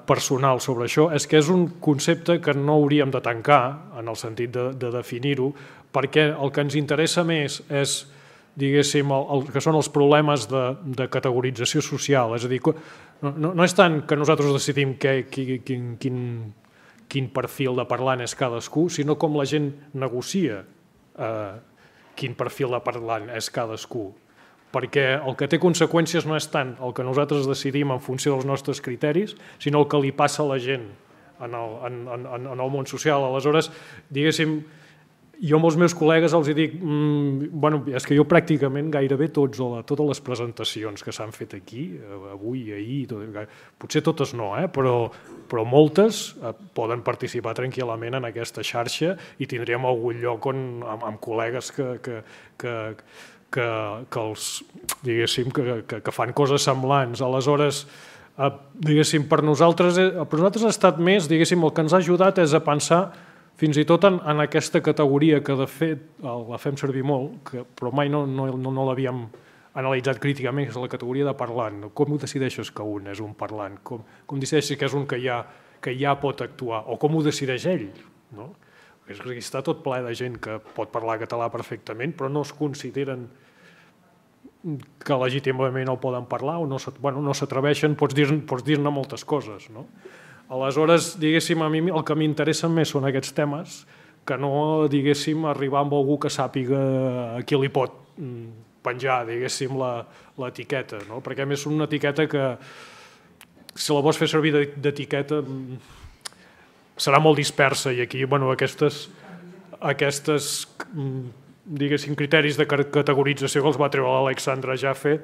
personal sobre això és que és un concepte que no hauríem de tancar en el sentit de definir-ho, perquè el que ens interessa més és, diguéssim, que són els problemes de categorització social, és a dir, no és tant que nosaltres decidim quin perfil de parlant és cadascú, sinó com la gent negocia quin perfil de parlant és cadascú. Perquè el que té conseqüències no és tant el que nosaltres decidim en funció dels nostres criteris, sinó el que li passa a la gent en el món social. Aleshores, diguéssim, jo amb els meus col·legues els dic, bueno, és que jo pràcticament gairebé totes les presentacions que s'han fet aquí, avui i ahir, potser totes no, però però moltes poden participar tranquil·lament en aquesta xarxa i tindríem algun lloc on, amb, amb col·legues que, que, que, que, que, els, diguéssim, que, que, que fan coses semblants. Aleshores, eh, diguéssim, per nosaltres, per nosaltres ha estat més, diguéssim, el que ens ha ajudat és a pensar fins i tot en, en aquesta categoria que de fet la fem servir molt, que, però mai no, no, no, no l'havíem analitzat críticament, és la categoria de parlant. Com ho decideixes que un és un parlant? Com, com decideixes que és un que ja, que ja pot actuar? O com ho decideix ell? No? És que està tot ple de gent que pot parlar català perfectament, però no es consideren que legítimament el poden parlar o no s'atreveixen, bueno, pots dir-ne pots dir-ne moltes coses. No? Aleshores, diguéssim, a mi el que m'interessen més són aquests temes que no, diguéssim, arribar amb algú que sàpiga a qui li pot penjar, diguéssim, l'etiqueta, no? Perquè a més és una etiqueta que, si la vols fer servir d'etiqueta, serà molt dispersa i aquí, bueno, aquestes, aquestes, diguéssim, criteris de categorització que els va treure l'Alexandre Jaffe,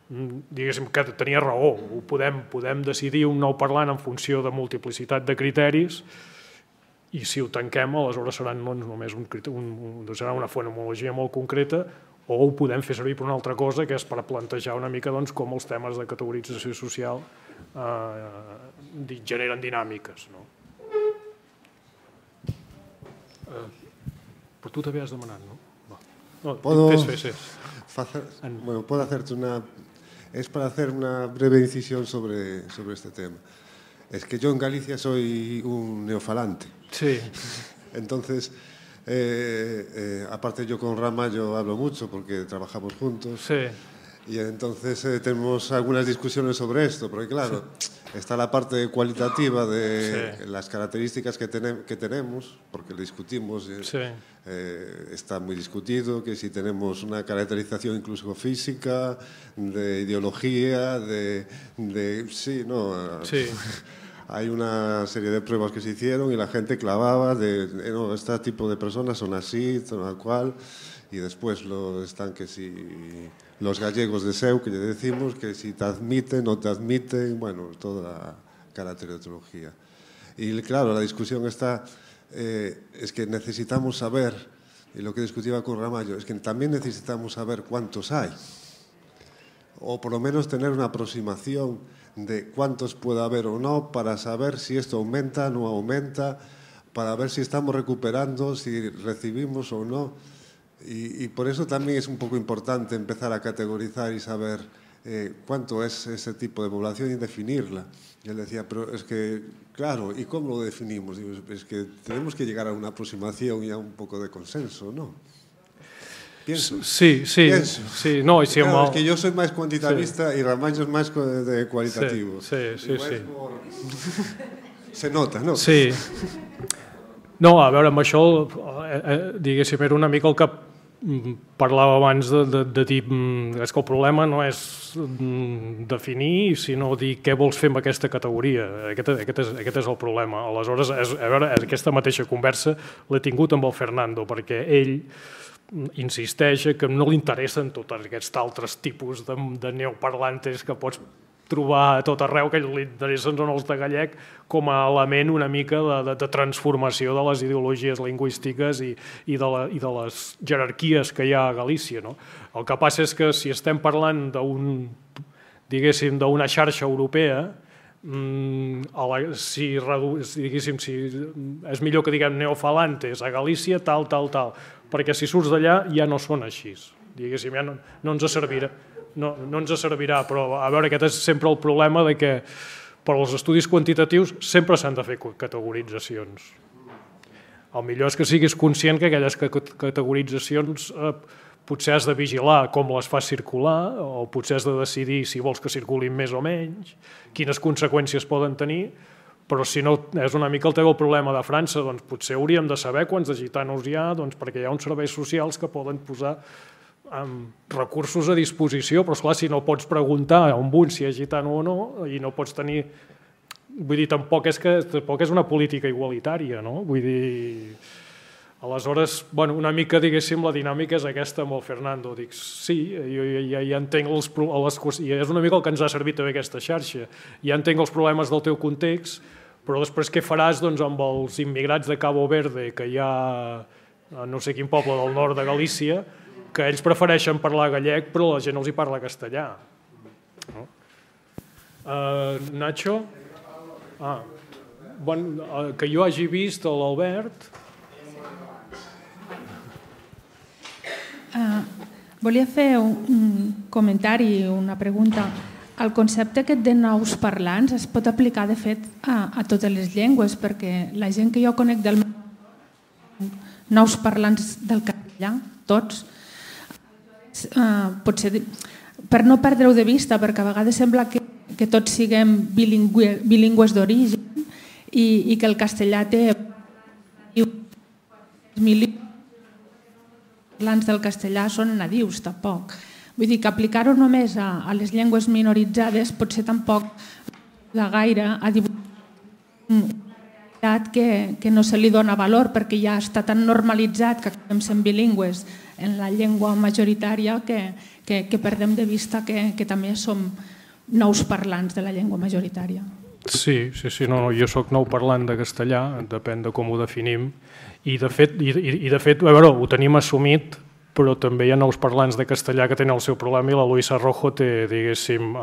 diguéssim, que tenia raó. Ho podem, podem decidir un nou parlant en funció de multiplicitat de criteris i si ho tanquem, aleshores serà no només un, un, serà una fonemologia molt concreta, o ho podem fer servir per una altra cosa, que és per plantejar una mica doncs, com els temes de categorització social eh, generen dinàmiques. No? Eh, però tu també has demanat, no? No, ¿Puedo, fes, fes, fes. Hacer, bueno, puedo hacerte una... Es para hacer una breve incisión sobre, sobre este tema. Es que yo en Galicia soy un neofalante. Sí. Entonces... Eh, eh, aparte yo con Ramallo hablo mucho porque trabajamos juntos. Sí. Y entonces eh, tenemos algunas discusiones sobre esto, porque claro, sí. Está la parte cualitativa de sí. Las características que, tenem, que tenemos, porque lo discutimos, eh, sí. eh, está muy discutido, que si tenemos una caracterización incluso física, de ideología, de... de sí, no... Sí. Hay una serie de pruebas que se hicieron y la gente clavaba de, de no, este tipo de personas son así, tal cual, y después lo están que si los gallegos de Seu, que ya decimos, que si te admiten, no te admiten, bueno, toda la caracterología. Y claro, la discusión está, eh, es que necesitamos saber, y lo que discutía con Ramallo, es que también necesitamos saber cuántos hay, o por lo menos tener una aproximación de cuántos puede haber o no, para saber si esto aumenta o no aumenta, para ver si estamos recuperando, si recibimos o no. Y, y por eso también es un poco importante empezar a categorizar y saber eh, cuánto es ese tipo de población y definirla. Y él decía, pero es que, claro, ¿y cómo lo definimos? Digo, es que tenemos que llegar a una aproximación y a un poco de consenso, ¿no? Pienso. Sí, sí, Pienso. sí. No, si claro, el... es que yo soy más cuantitavista sí. Y Ramallo es más de cualitativo. Sí, sí, sí. sí. Por... Se nota, no? Sí. No, a veure, amb això, eh, eh, diguéssim, era una mica el que parlava abans de, de, de dir és que el problema no és definir, sinó dir què vols fer amb aquesta categoria. Aquest, aquest, és, aquest és el problema. Aleshores, és, a veure, aquesta mateixa conversa l'he tingut amb el Fernando, perquè ell insisteix que no li interessen tots aquests altres tipus de, de neoparlantes que pots trobar a tot arreu, que li interessen són els de gallec com a element una mica de, de, de transformació de les ideologies lingüístiques i, i, de la, i de les jerarquies que hi ha a Galícia. No? El que passa és que si estem parlant d'un, diguéssim, d'una xarxa europea, si, diguéssim, si és millor que diguem neofalantes a Galícia, tal, tal, tal, perquè si surts d'allà ja no són així, diguéssim, ja no, no ens servirà. No, no ens servirà, però a veure, aquest és sempre el problema de que per als estudis quantitatius sempre s'han de fer categoritzacions. El millor és que siguis conscient que aquelles categoritzacions eh, potser has de vigilar com les fas circular o potser has de decidir si vols que circulin més o menys, quines conseqüències poden tenir, però si no és una mica el teu problema de França, doncs potser hauríem de saber quants de gitanos hi ha, doncs perquè hi ha uns serveis socials que poden posar amb recursos a disposició, però esclar, si no pots preguntar a un bunt si és gitano o no, i no pots tenir... Vull dir, tampoc és, que, tampoc és una política igualitària, no? Vull dir... Aleshores, bueno, una mica, diguéssim, la dinàmica és aquesta amb el Fernando. Dic, sí, jo ja, ja entenc les, les... I és una mica el que ens ha servit també aquesta xarxa. Ja entenc els problemes del teu context, Però després què faràs amb els immigrats de Cabo Verde que hi ha a no sé quin poble del nord de Galícia, que ells prefereixen parlar gallec però la gent els hi parla castellà. Nacho? Ah, que jo hagi vist l'Albert. Volia fer un comentari, una pregunta. El concepte aquest de nous parlants es pot aplicar, de fet, a totes les llengües, perquè la gent que jo conec del nous parlants del castellà, tots, potser per no perdre-ho de vista, perquè a vegades sembla que tots siguem bilingües d'origen i que el castellà té milions de parlants del castellà són nadius, tampoc. Vull dir que aplicar-ho només a les llengües minoritzades potser tampoc de gaire a dibuixar que no se li dona valor perquè ja està tan normalitzat que acabem sent bilingües en la llengua majoritària que perdem de vista que també som nous parlants de la llengua majoritària. Sí, sí, sí, no, jo soc nou parlant de castellà, depèn de com ho definim, i de fet, a veure, ho tenim assumit, però també hi ha nous parlants de castellà que tenen el seu problema i la Luisa Rojo té, diguéssim,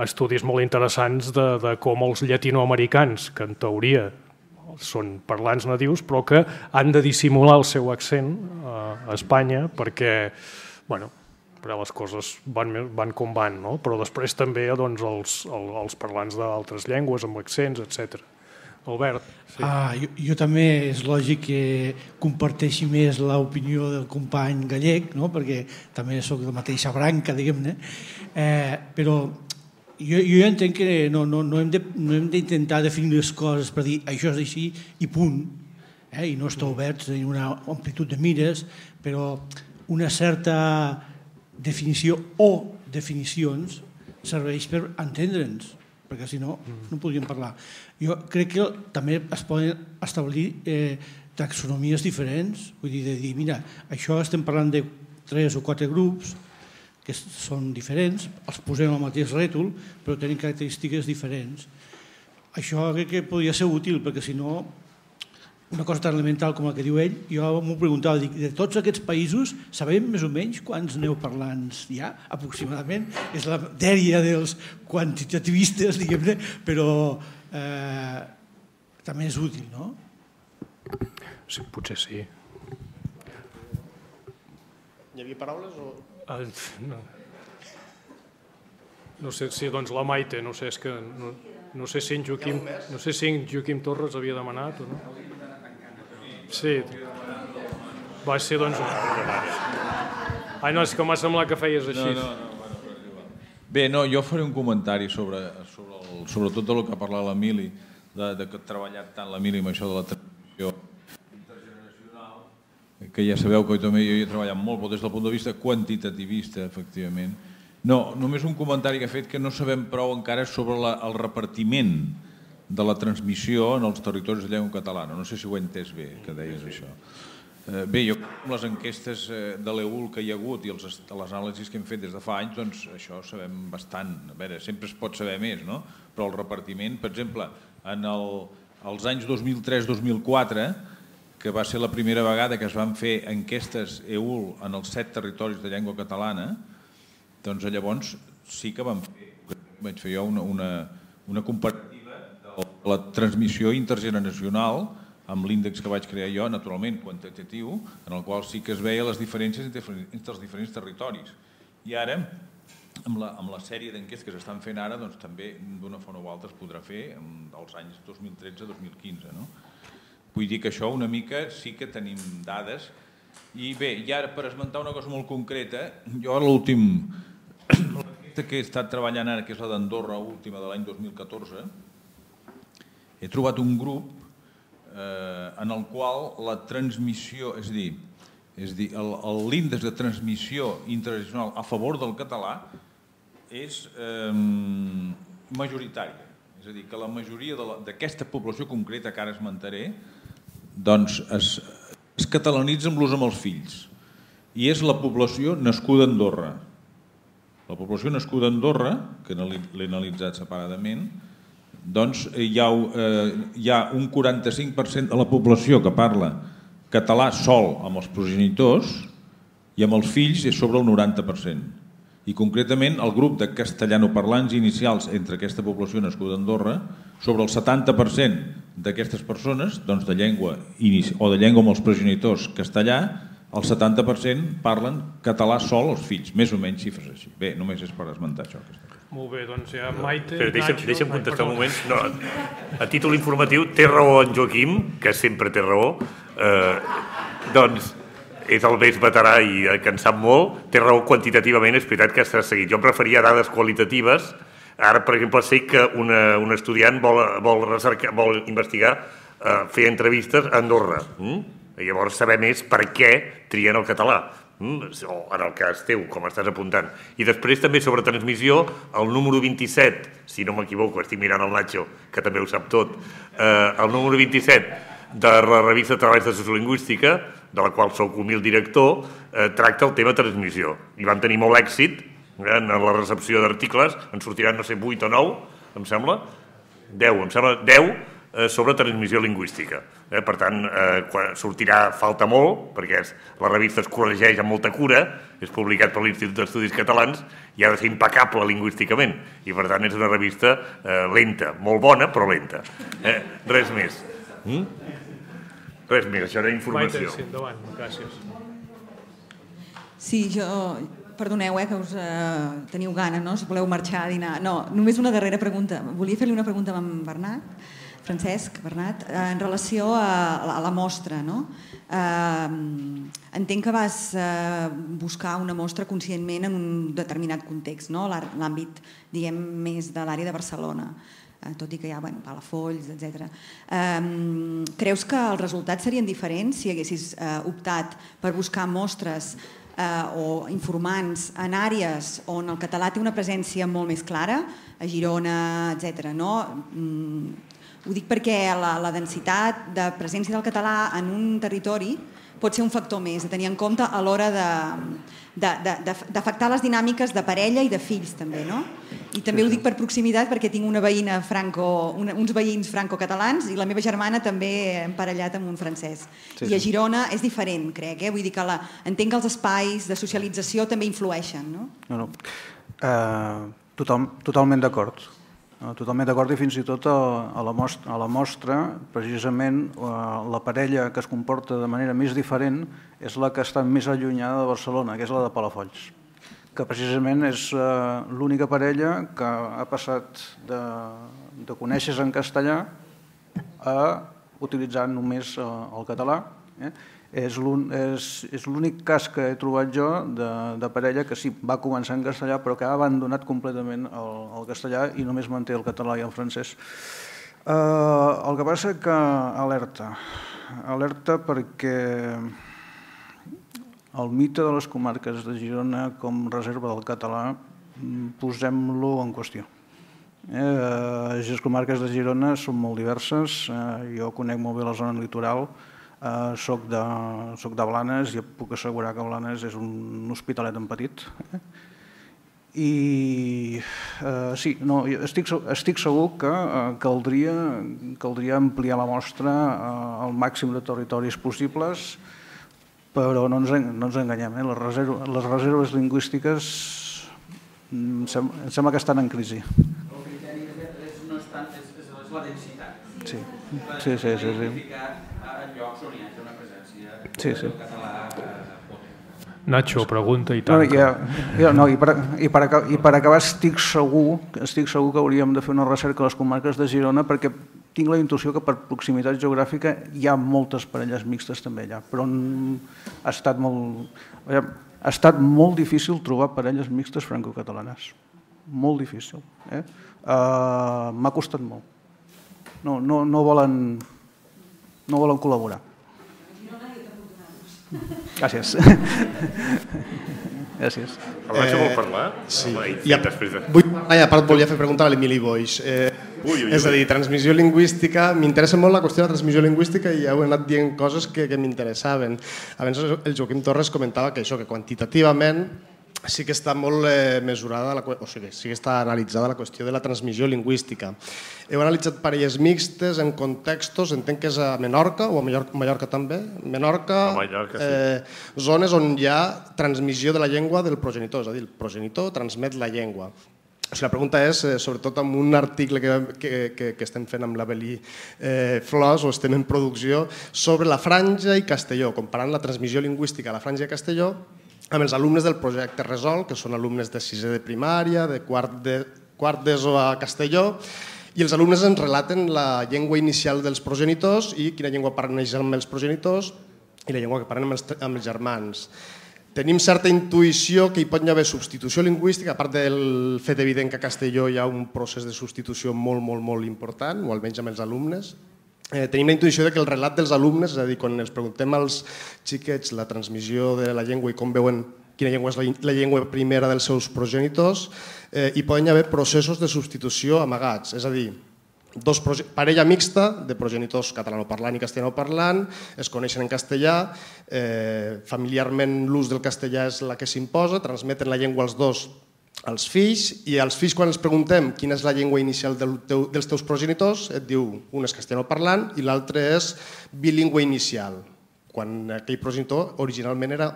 estudis molt interessants de com els llatinoamericans, que en teoria són parlants nadius, però que han de dissimular el seu accent a Espanya perquè, bueno, les coses van com van, però després també els parlants d'altres llengües amb accents, etcètera. Albert. Jo també és lògic que comparteixi més l'opinió del company gallec, perquè també soc de la mateixa branca, diguem-ne, però jo entenc que no hem d'intentar definir les coses per dir això és així i punt, i no estar oberts en una amplitud de mires, però una certa definició o definicions serveix per entendre'ns, perquè si no, no podríem parlar. Jo crec que també es poden establir taxonomies diferents, vull dir, de dir, mira, això estem parlant de tres o quatre grups que són diferents, els posem al mateix rètol, però tenen característiques diferents. Això crec que podria ser útil, perquè si no, una cosa tan elemental com el que diu ell, jo m'ho preguntava, dic, de tots aquests països sabem més o menys quants neoparlants hi ha, aproximadament? És la dèria dels quantitativistes, diguem-ne, però també és útil, no? Sí, potser sí. Hi havia paraules o...? No sé si doncs la Maite, no sé, és que no sé si en Joaquim no sé si en Joaquim Torres havia demanat o no. Sí, va ser doncs... Ai, no, és que m'ha semblat que feies així. Bé, no, jo faré un comentari sobre sobretot del que ha parlat l'Emili, de que ha treballat tant l'Emili amb això de la transmissió intergeneracional, que ja sabeu que jo també hi he treballat molt, però des del punt de vista quantitativista, efectivament. No, només un comentari que ha fet que no sabem prou encara sobre el repartiment de la transmissió en els territoris de llengua catalana. No sé si ho he entès bé, que deies això. Bé, jo amb les enquestes de l'E U L que hi ha hagut i les anàlisis que hem fet des de fa anys, doncs això sabem bastant. A veure, sempre es pot saber més, no? Però el repartiment, per exemple, en els anys dos mil tres dos mil quatre, que va ser la primera vegada que es van fer enquestes E U L en els set territoris de llengua catalana, doncs llavors sí que vam fer, vaig fer jo una comparativa de la transmissió intergeneracional amb l'índex que vaig crear jo, naturalment quantitatiu, en el qual sí que es veia les diferències entre els diferents territoris. I ara, amb la sèrie d'enquestes que s'estan fent ara, doncs també d'una forma o altra es podrà fer els anys dos mil tretze dos mil quinze. Vull dir que això una mica sí que tenim dades. I bé, i ara per esmentar una cosa molt concreta, jo l'últim que he estat treballant ara, que és la d'Andorra última de l'any dos mil catorze, he trobat un grup en el qual la transmissió, és a dir, l'índex de transmissió interregional a favor del català és majoritària. És a dir, que la majoria d'aquesta població concreta que ara esmentaré doncs es catalanitza amb l'ús amb els fills. I és la població nascuda a Andorra. La població nascuda a Andorra, que l'he analitzat separadament, doncs hi ha, eh, hi ha un quaranta-cinc per cent de la població que parla català sol amb els progenitors i amb els fills és sobre el noranta per cent. I concretament el grup de castellanoparlants inicials entre aquesta població nascuda a Andorra, sobre el setanta per cent d'aquestes persones, doncs de llengua o de llengua amb els progenitors castellà, el setanta per cent parlen català sol els fills, més o menys xifres així. Bé, només és per esmentar això. Molt bé, doncs ja Maite... Però deixa'm, deixa'm contestar un moment. No, a títol informatiu, té raó en Joaquim, que sempre té raó. Eh, doncs és el més veterà i que en sap molt. Té raó quantitativament, és veritat que s'ha seguit. Jo em referia a dades qualitatives. Ara, per exemple, sé que una, un estudiant vol, vol, recercar, vol investigar, eh, fer entrevistes a Andorra. Mm? I llavors saber més per què trien el català. Mm? O en el cas teu, com estàs apuntant. I després també sobre transmissió, el número vint-i-set, si no m'equivoco, estic mirant el Nacho, que també ho sap tot, eh, el número vint-i-set de la revista Treballs de Sociolingüística, de la qual sóc humil director, eh, tracta el tema transmissió. I vam tenir molt èxit eh, en la recepció d'articles, en sortiran, no sé, vuit o nou, em sembla, deu, em sembla, deu, eh, sobre transmissió lingüística. Eh, per tant, eh, quan sortirà falta molt, perquè és, la revista es corregeix amb molta cura, és publicat per l'Institut d'Estudis Catalans i ha de ser impecable lingüísticament. I per tant és una revista eh, lenta, molt bona, però lenta. Eh, res més. Mm? Res més, això era informació. Maite, sí, endavant, gràcies. Sí, jo... Perdoneu, eh, que us eh, teniu gana, no? Si voleu marxar a dinar. No, només una darrera pregunta. Volia fer-li una pregunta a en Bernat, Francesc, Bernat, eh, en relació a, a la mostra, no? Eh, entenc que vas eh, buscar una mostra conscientment en un determinat context, no? L'àmbit, diguem, més de l'àrea de Barcelona, eh, tot i que hi ha, bueno, Palafolls, etcètera. Eh, creus que els resultats serien diferents si haguessis eh, optat per buscar mostres eh, o informants en àrees on el català té una presència molt més clara, a Girona, etcètera, no? Mm, ho dic perquè la, la densitat de presència del català en un territori pot ser un factor més a tenir en compte a l'hora d'afectar les dinàmiques de parella i de fills també, no? I també ho dic per proximitat perquè tinc una veïna franco, una, uns veïns franco-catalans i la meva germana també emparellat amb un francès. Sí, I a Girona és diferent, crec, eh? Vull dir que la, entenc que els espais de socialització també influeixen, no? No, no. Uh, total, totalment d'acord. Totalment d'acord i fins i tot a la mostra, a la mostra precisament la parella que es comporta de manera més diferent és la que està més allunyada de Barcelona, que és la de Palafolls, que precisament és l'única parella que ha passat de, de conèixer-se en castellà a utilitzar només el català. Eh? És l'únic cas que he trobat jo de, de parella que sí, va començar en castellà però que ha abandonat completament el, el castellà i només manté el català i el francès. Uh, el que passa que alerta, alerta perquè el mite de les comarques de Girona com reserva del català posem-lo en qüestió. Eh, les comarques de Girona són molt diverses, eh, jo conec molt bé la zona litoral. Uh, soc, de, soc de Blanes i puc assegurar que Blanes és un hospitalet en petit. Eh? I uh, sí, no, estic, estic segur que uh, caldria, caldria ampliar la mostra uh, al màxim de territoris possibles, però no ens, no ens enganyem, eh? les, reserves, les reserves lingüístiques em sembla, em sembla que estan en crisi. El criteri és, no és, tant, és, és la densitat. Sí, sí, sí, sí, sí. En llocs on hi hagi una presència sí, sí. del català Nacho, pregunta i tant. No, ja, ja, no, i, per, i, per, I per acabar estic segur, estic segur que hauríem de fer una recerca a les comarques de Girona perquè tinc la intuïció que per proximitat geogràfica hi ha moltes parelles mixtes també allà, però ha estat molt, ha estat molt difícil trobar parelles mixtes franco-catalanes. Molt difícil. Eh? Uh, m'ha costat molt. No, no, no volen... no volen col·laborar. Gràcies. Gràcies. El Nacho vol parlar? Sí. I després de... Vull parlar i a part volia fer preguntar a l'Emili Boix. Eh, ui, ui, ui. És a dir, transmissió lingüística, m'interessa molt la qüestió de la transmissió lingüística i heu anat dient coses que, que m'interessaven. Abans el Joaquim Torres comentava que això, que quantitativament sí que està molt mesurada, o sigui, sí que està analitzada la qüestió de la transmissió lingüística. Heu analitzat parelles mixtes en contextos, entenc que és a Menorca o a Mallorca també, Menorca, zones on hi ha transmissió de la llengua del progenitor, és a dir, el progenitor transmet la llengua. La pregunta és, sobretot amb un article que estem fent amb l'Avelí Flors, o estem en producció, sobre la Franja i Castelló, comparant la transmissió lingüística a la Franja i Castelló amb els alumnes del projecte Resol, que són alumnes de sisè de primària, de quart d'ESO a Castelló, i els alumnes ens relaten la llengua inicial dels progenitors i quina llengua parlen amb els progenitors i la llengua que parlen amb els germans. Tenim certa intuïció que hi pot haver substitució lingüística, a part del fet evident que a Castelló hi ha un procés de substitució molt, molt, molt important, o almenys amb els alumnes. Tenim la intuïció que el relat dels alumnes, és a dir, quan els preguntem als xiquets la transmissió de la llengua i com veuen quina llengua és la llengua primera dels seus progenitors, hi poden haver processos de substitució amagats, és a dir, parella mixta de progenitors catalanoparlant i castellanoparlant, es coneixen en castellà, familiarment l'ús del castellà és la que s'imposa, transmeten la llengua als dos als fills, i als fills quan els preguntem quina és la llengua inicial dels teus progenitors, et diu un és castellanoparlant i l'altre és bilingüe inicial, quan aquell progenitor originalment era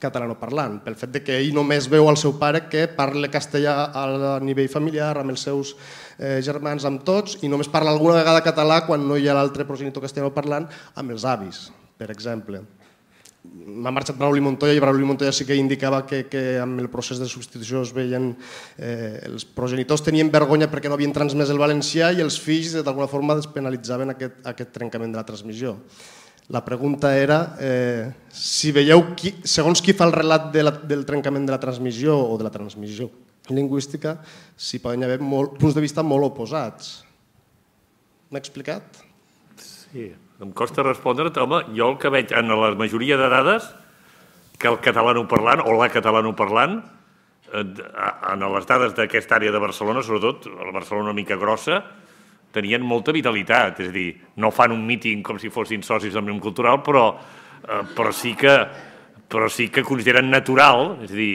catalanoparlant, pel fet que ell només veu al seu pare que parla castellà a nivell familiar, amb els seus germans, amb tots, i només parla alguna vegada català quan no hi ha l'altre progenitor castellanoparlant amb els avis, per exemple. M'ha marxat Brauli Montoya i Brauli Montoya sí que indicava que amb el procés de substitució es veien... Els progenitors tenien vergonya perquè no havien transmès el valencià i els fills d'alguna forma despenalitzaven aquest trencament de la transmissió. La pregunta era si veieu, segons qui fa el relat del trencament de la transmissió o de la transmissió lingüística, si poden haver punts de vista molt oposats. M'he explicat? Sí. Em costa respondre, home, jo el que veig en la majoria de dades que el catalanoparlant o la catalanoparlant en les dades d'aquesta àrea de Barcelona, sobretot la Barcelona una mica grossa, tenien molta vitalitat, és a dir, no fan un míting com si fossin socis d'Òmnium Cultural, però sí que consideren natural, és a dir,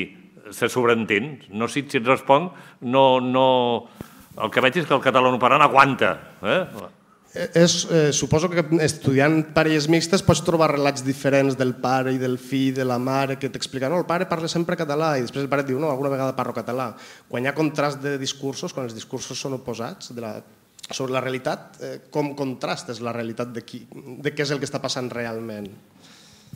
se sobreentén. No sé si et responc, el que veig és que el catalanoparlant aguanta, eh? Suposo que estudiant parelles mixtes pots trobar relats diferents del pare i del fill, de la mare, que t'expliquen no, el pare parla sempre català i després el pare et diu no, alguna vegada parlo català. Quan hi ha contrast de discursos, quan els discursos són oposats sobre la realitat, com contrastes la realitat de què és el que està passant realment?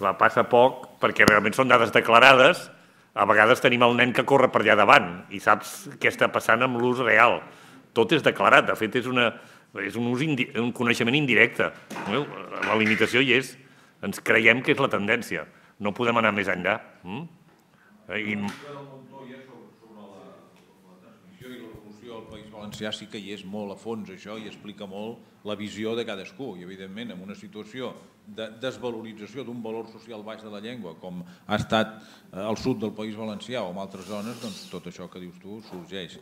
Clar, passa poc perquè realment són dades declarades. A vegades tenim el nen que corre per allà davant i saps què està passant amb l'ús real. Tot és declarat, de fet és una... és un coneixement indirecte. La limitació hi és. Ens creiem que és la tendència. No podem anar més enllà. I... El País Valencià sí que hi és molt a fons això i explica molt la visió de cadascú i evidentment en una situació de desvalorització d'un valor social baix de la llengua com ha estat al sud del País Valencià o en altres zones, doncs tot això que dius tu sorgeix.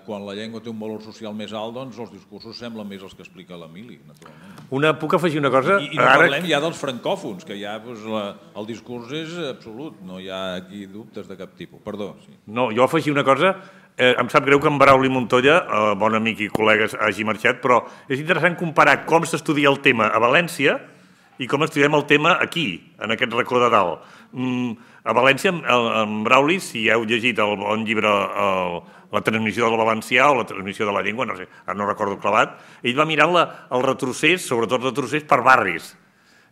Quan la llengua té un valor social més alt, doncs els discursos semblen més els que explica l'Emili, naturalment. Puc afegir una cosa? I no parlem ja dels francòfons, que ja el discurs és absolut, no hi ha aquí dubtes de cap tipus. Perdó. No, jo afegir una cosa, em sap greu que en Brauli Montoya, bon amic i col·lega, hagi marxat, però és interessant comparar com s'estudia el tema a València i com estudiem el tema aquí, en aquest racó de dalt. A València, en Brauli, si heu llegit el bon llibre La transmissió del valencià o la transmissió de la llengua, no sé, ara no recordo clavat, ell va mirant el retrocés, sobretot el retrocés per barris.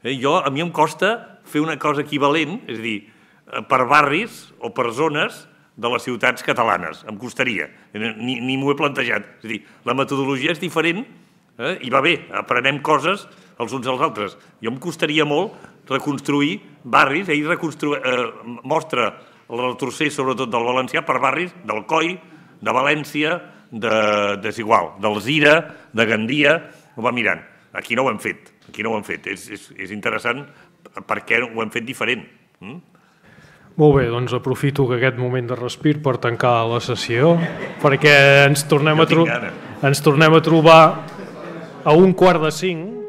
A mi em costa fer una cosa equivalent, és a dir, per barris o per zones de les ciutats catalanes, em costaria, ni m'ho he plantejat. És a dir, la metodologia és diferent i va bé, aprenem coses els uns als altres. Jo em costaria molt reconstruir barris, ell mostra el retrocés sobretot del valencià per barris del Coi, de València, desigual, d'Alzira, de Gandia, ho va mirant. Aquí no ho hem fet, aquí no ho hem fet. És interessant perquè ho hem fet diferent. Molt bé, doncs aprofito aquest moment de respir per tancar la sessió, perquè ens tornem a trobar a un quart de cinc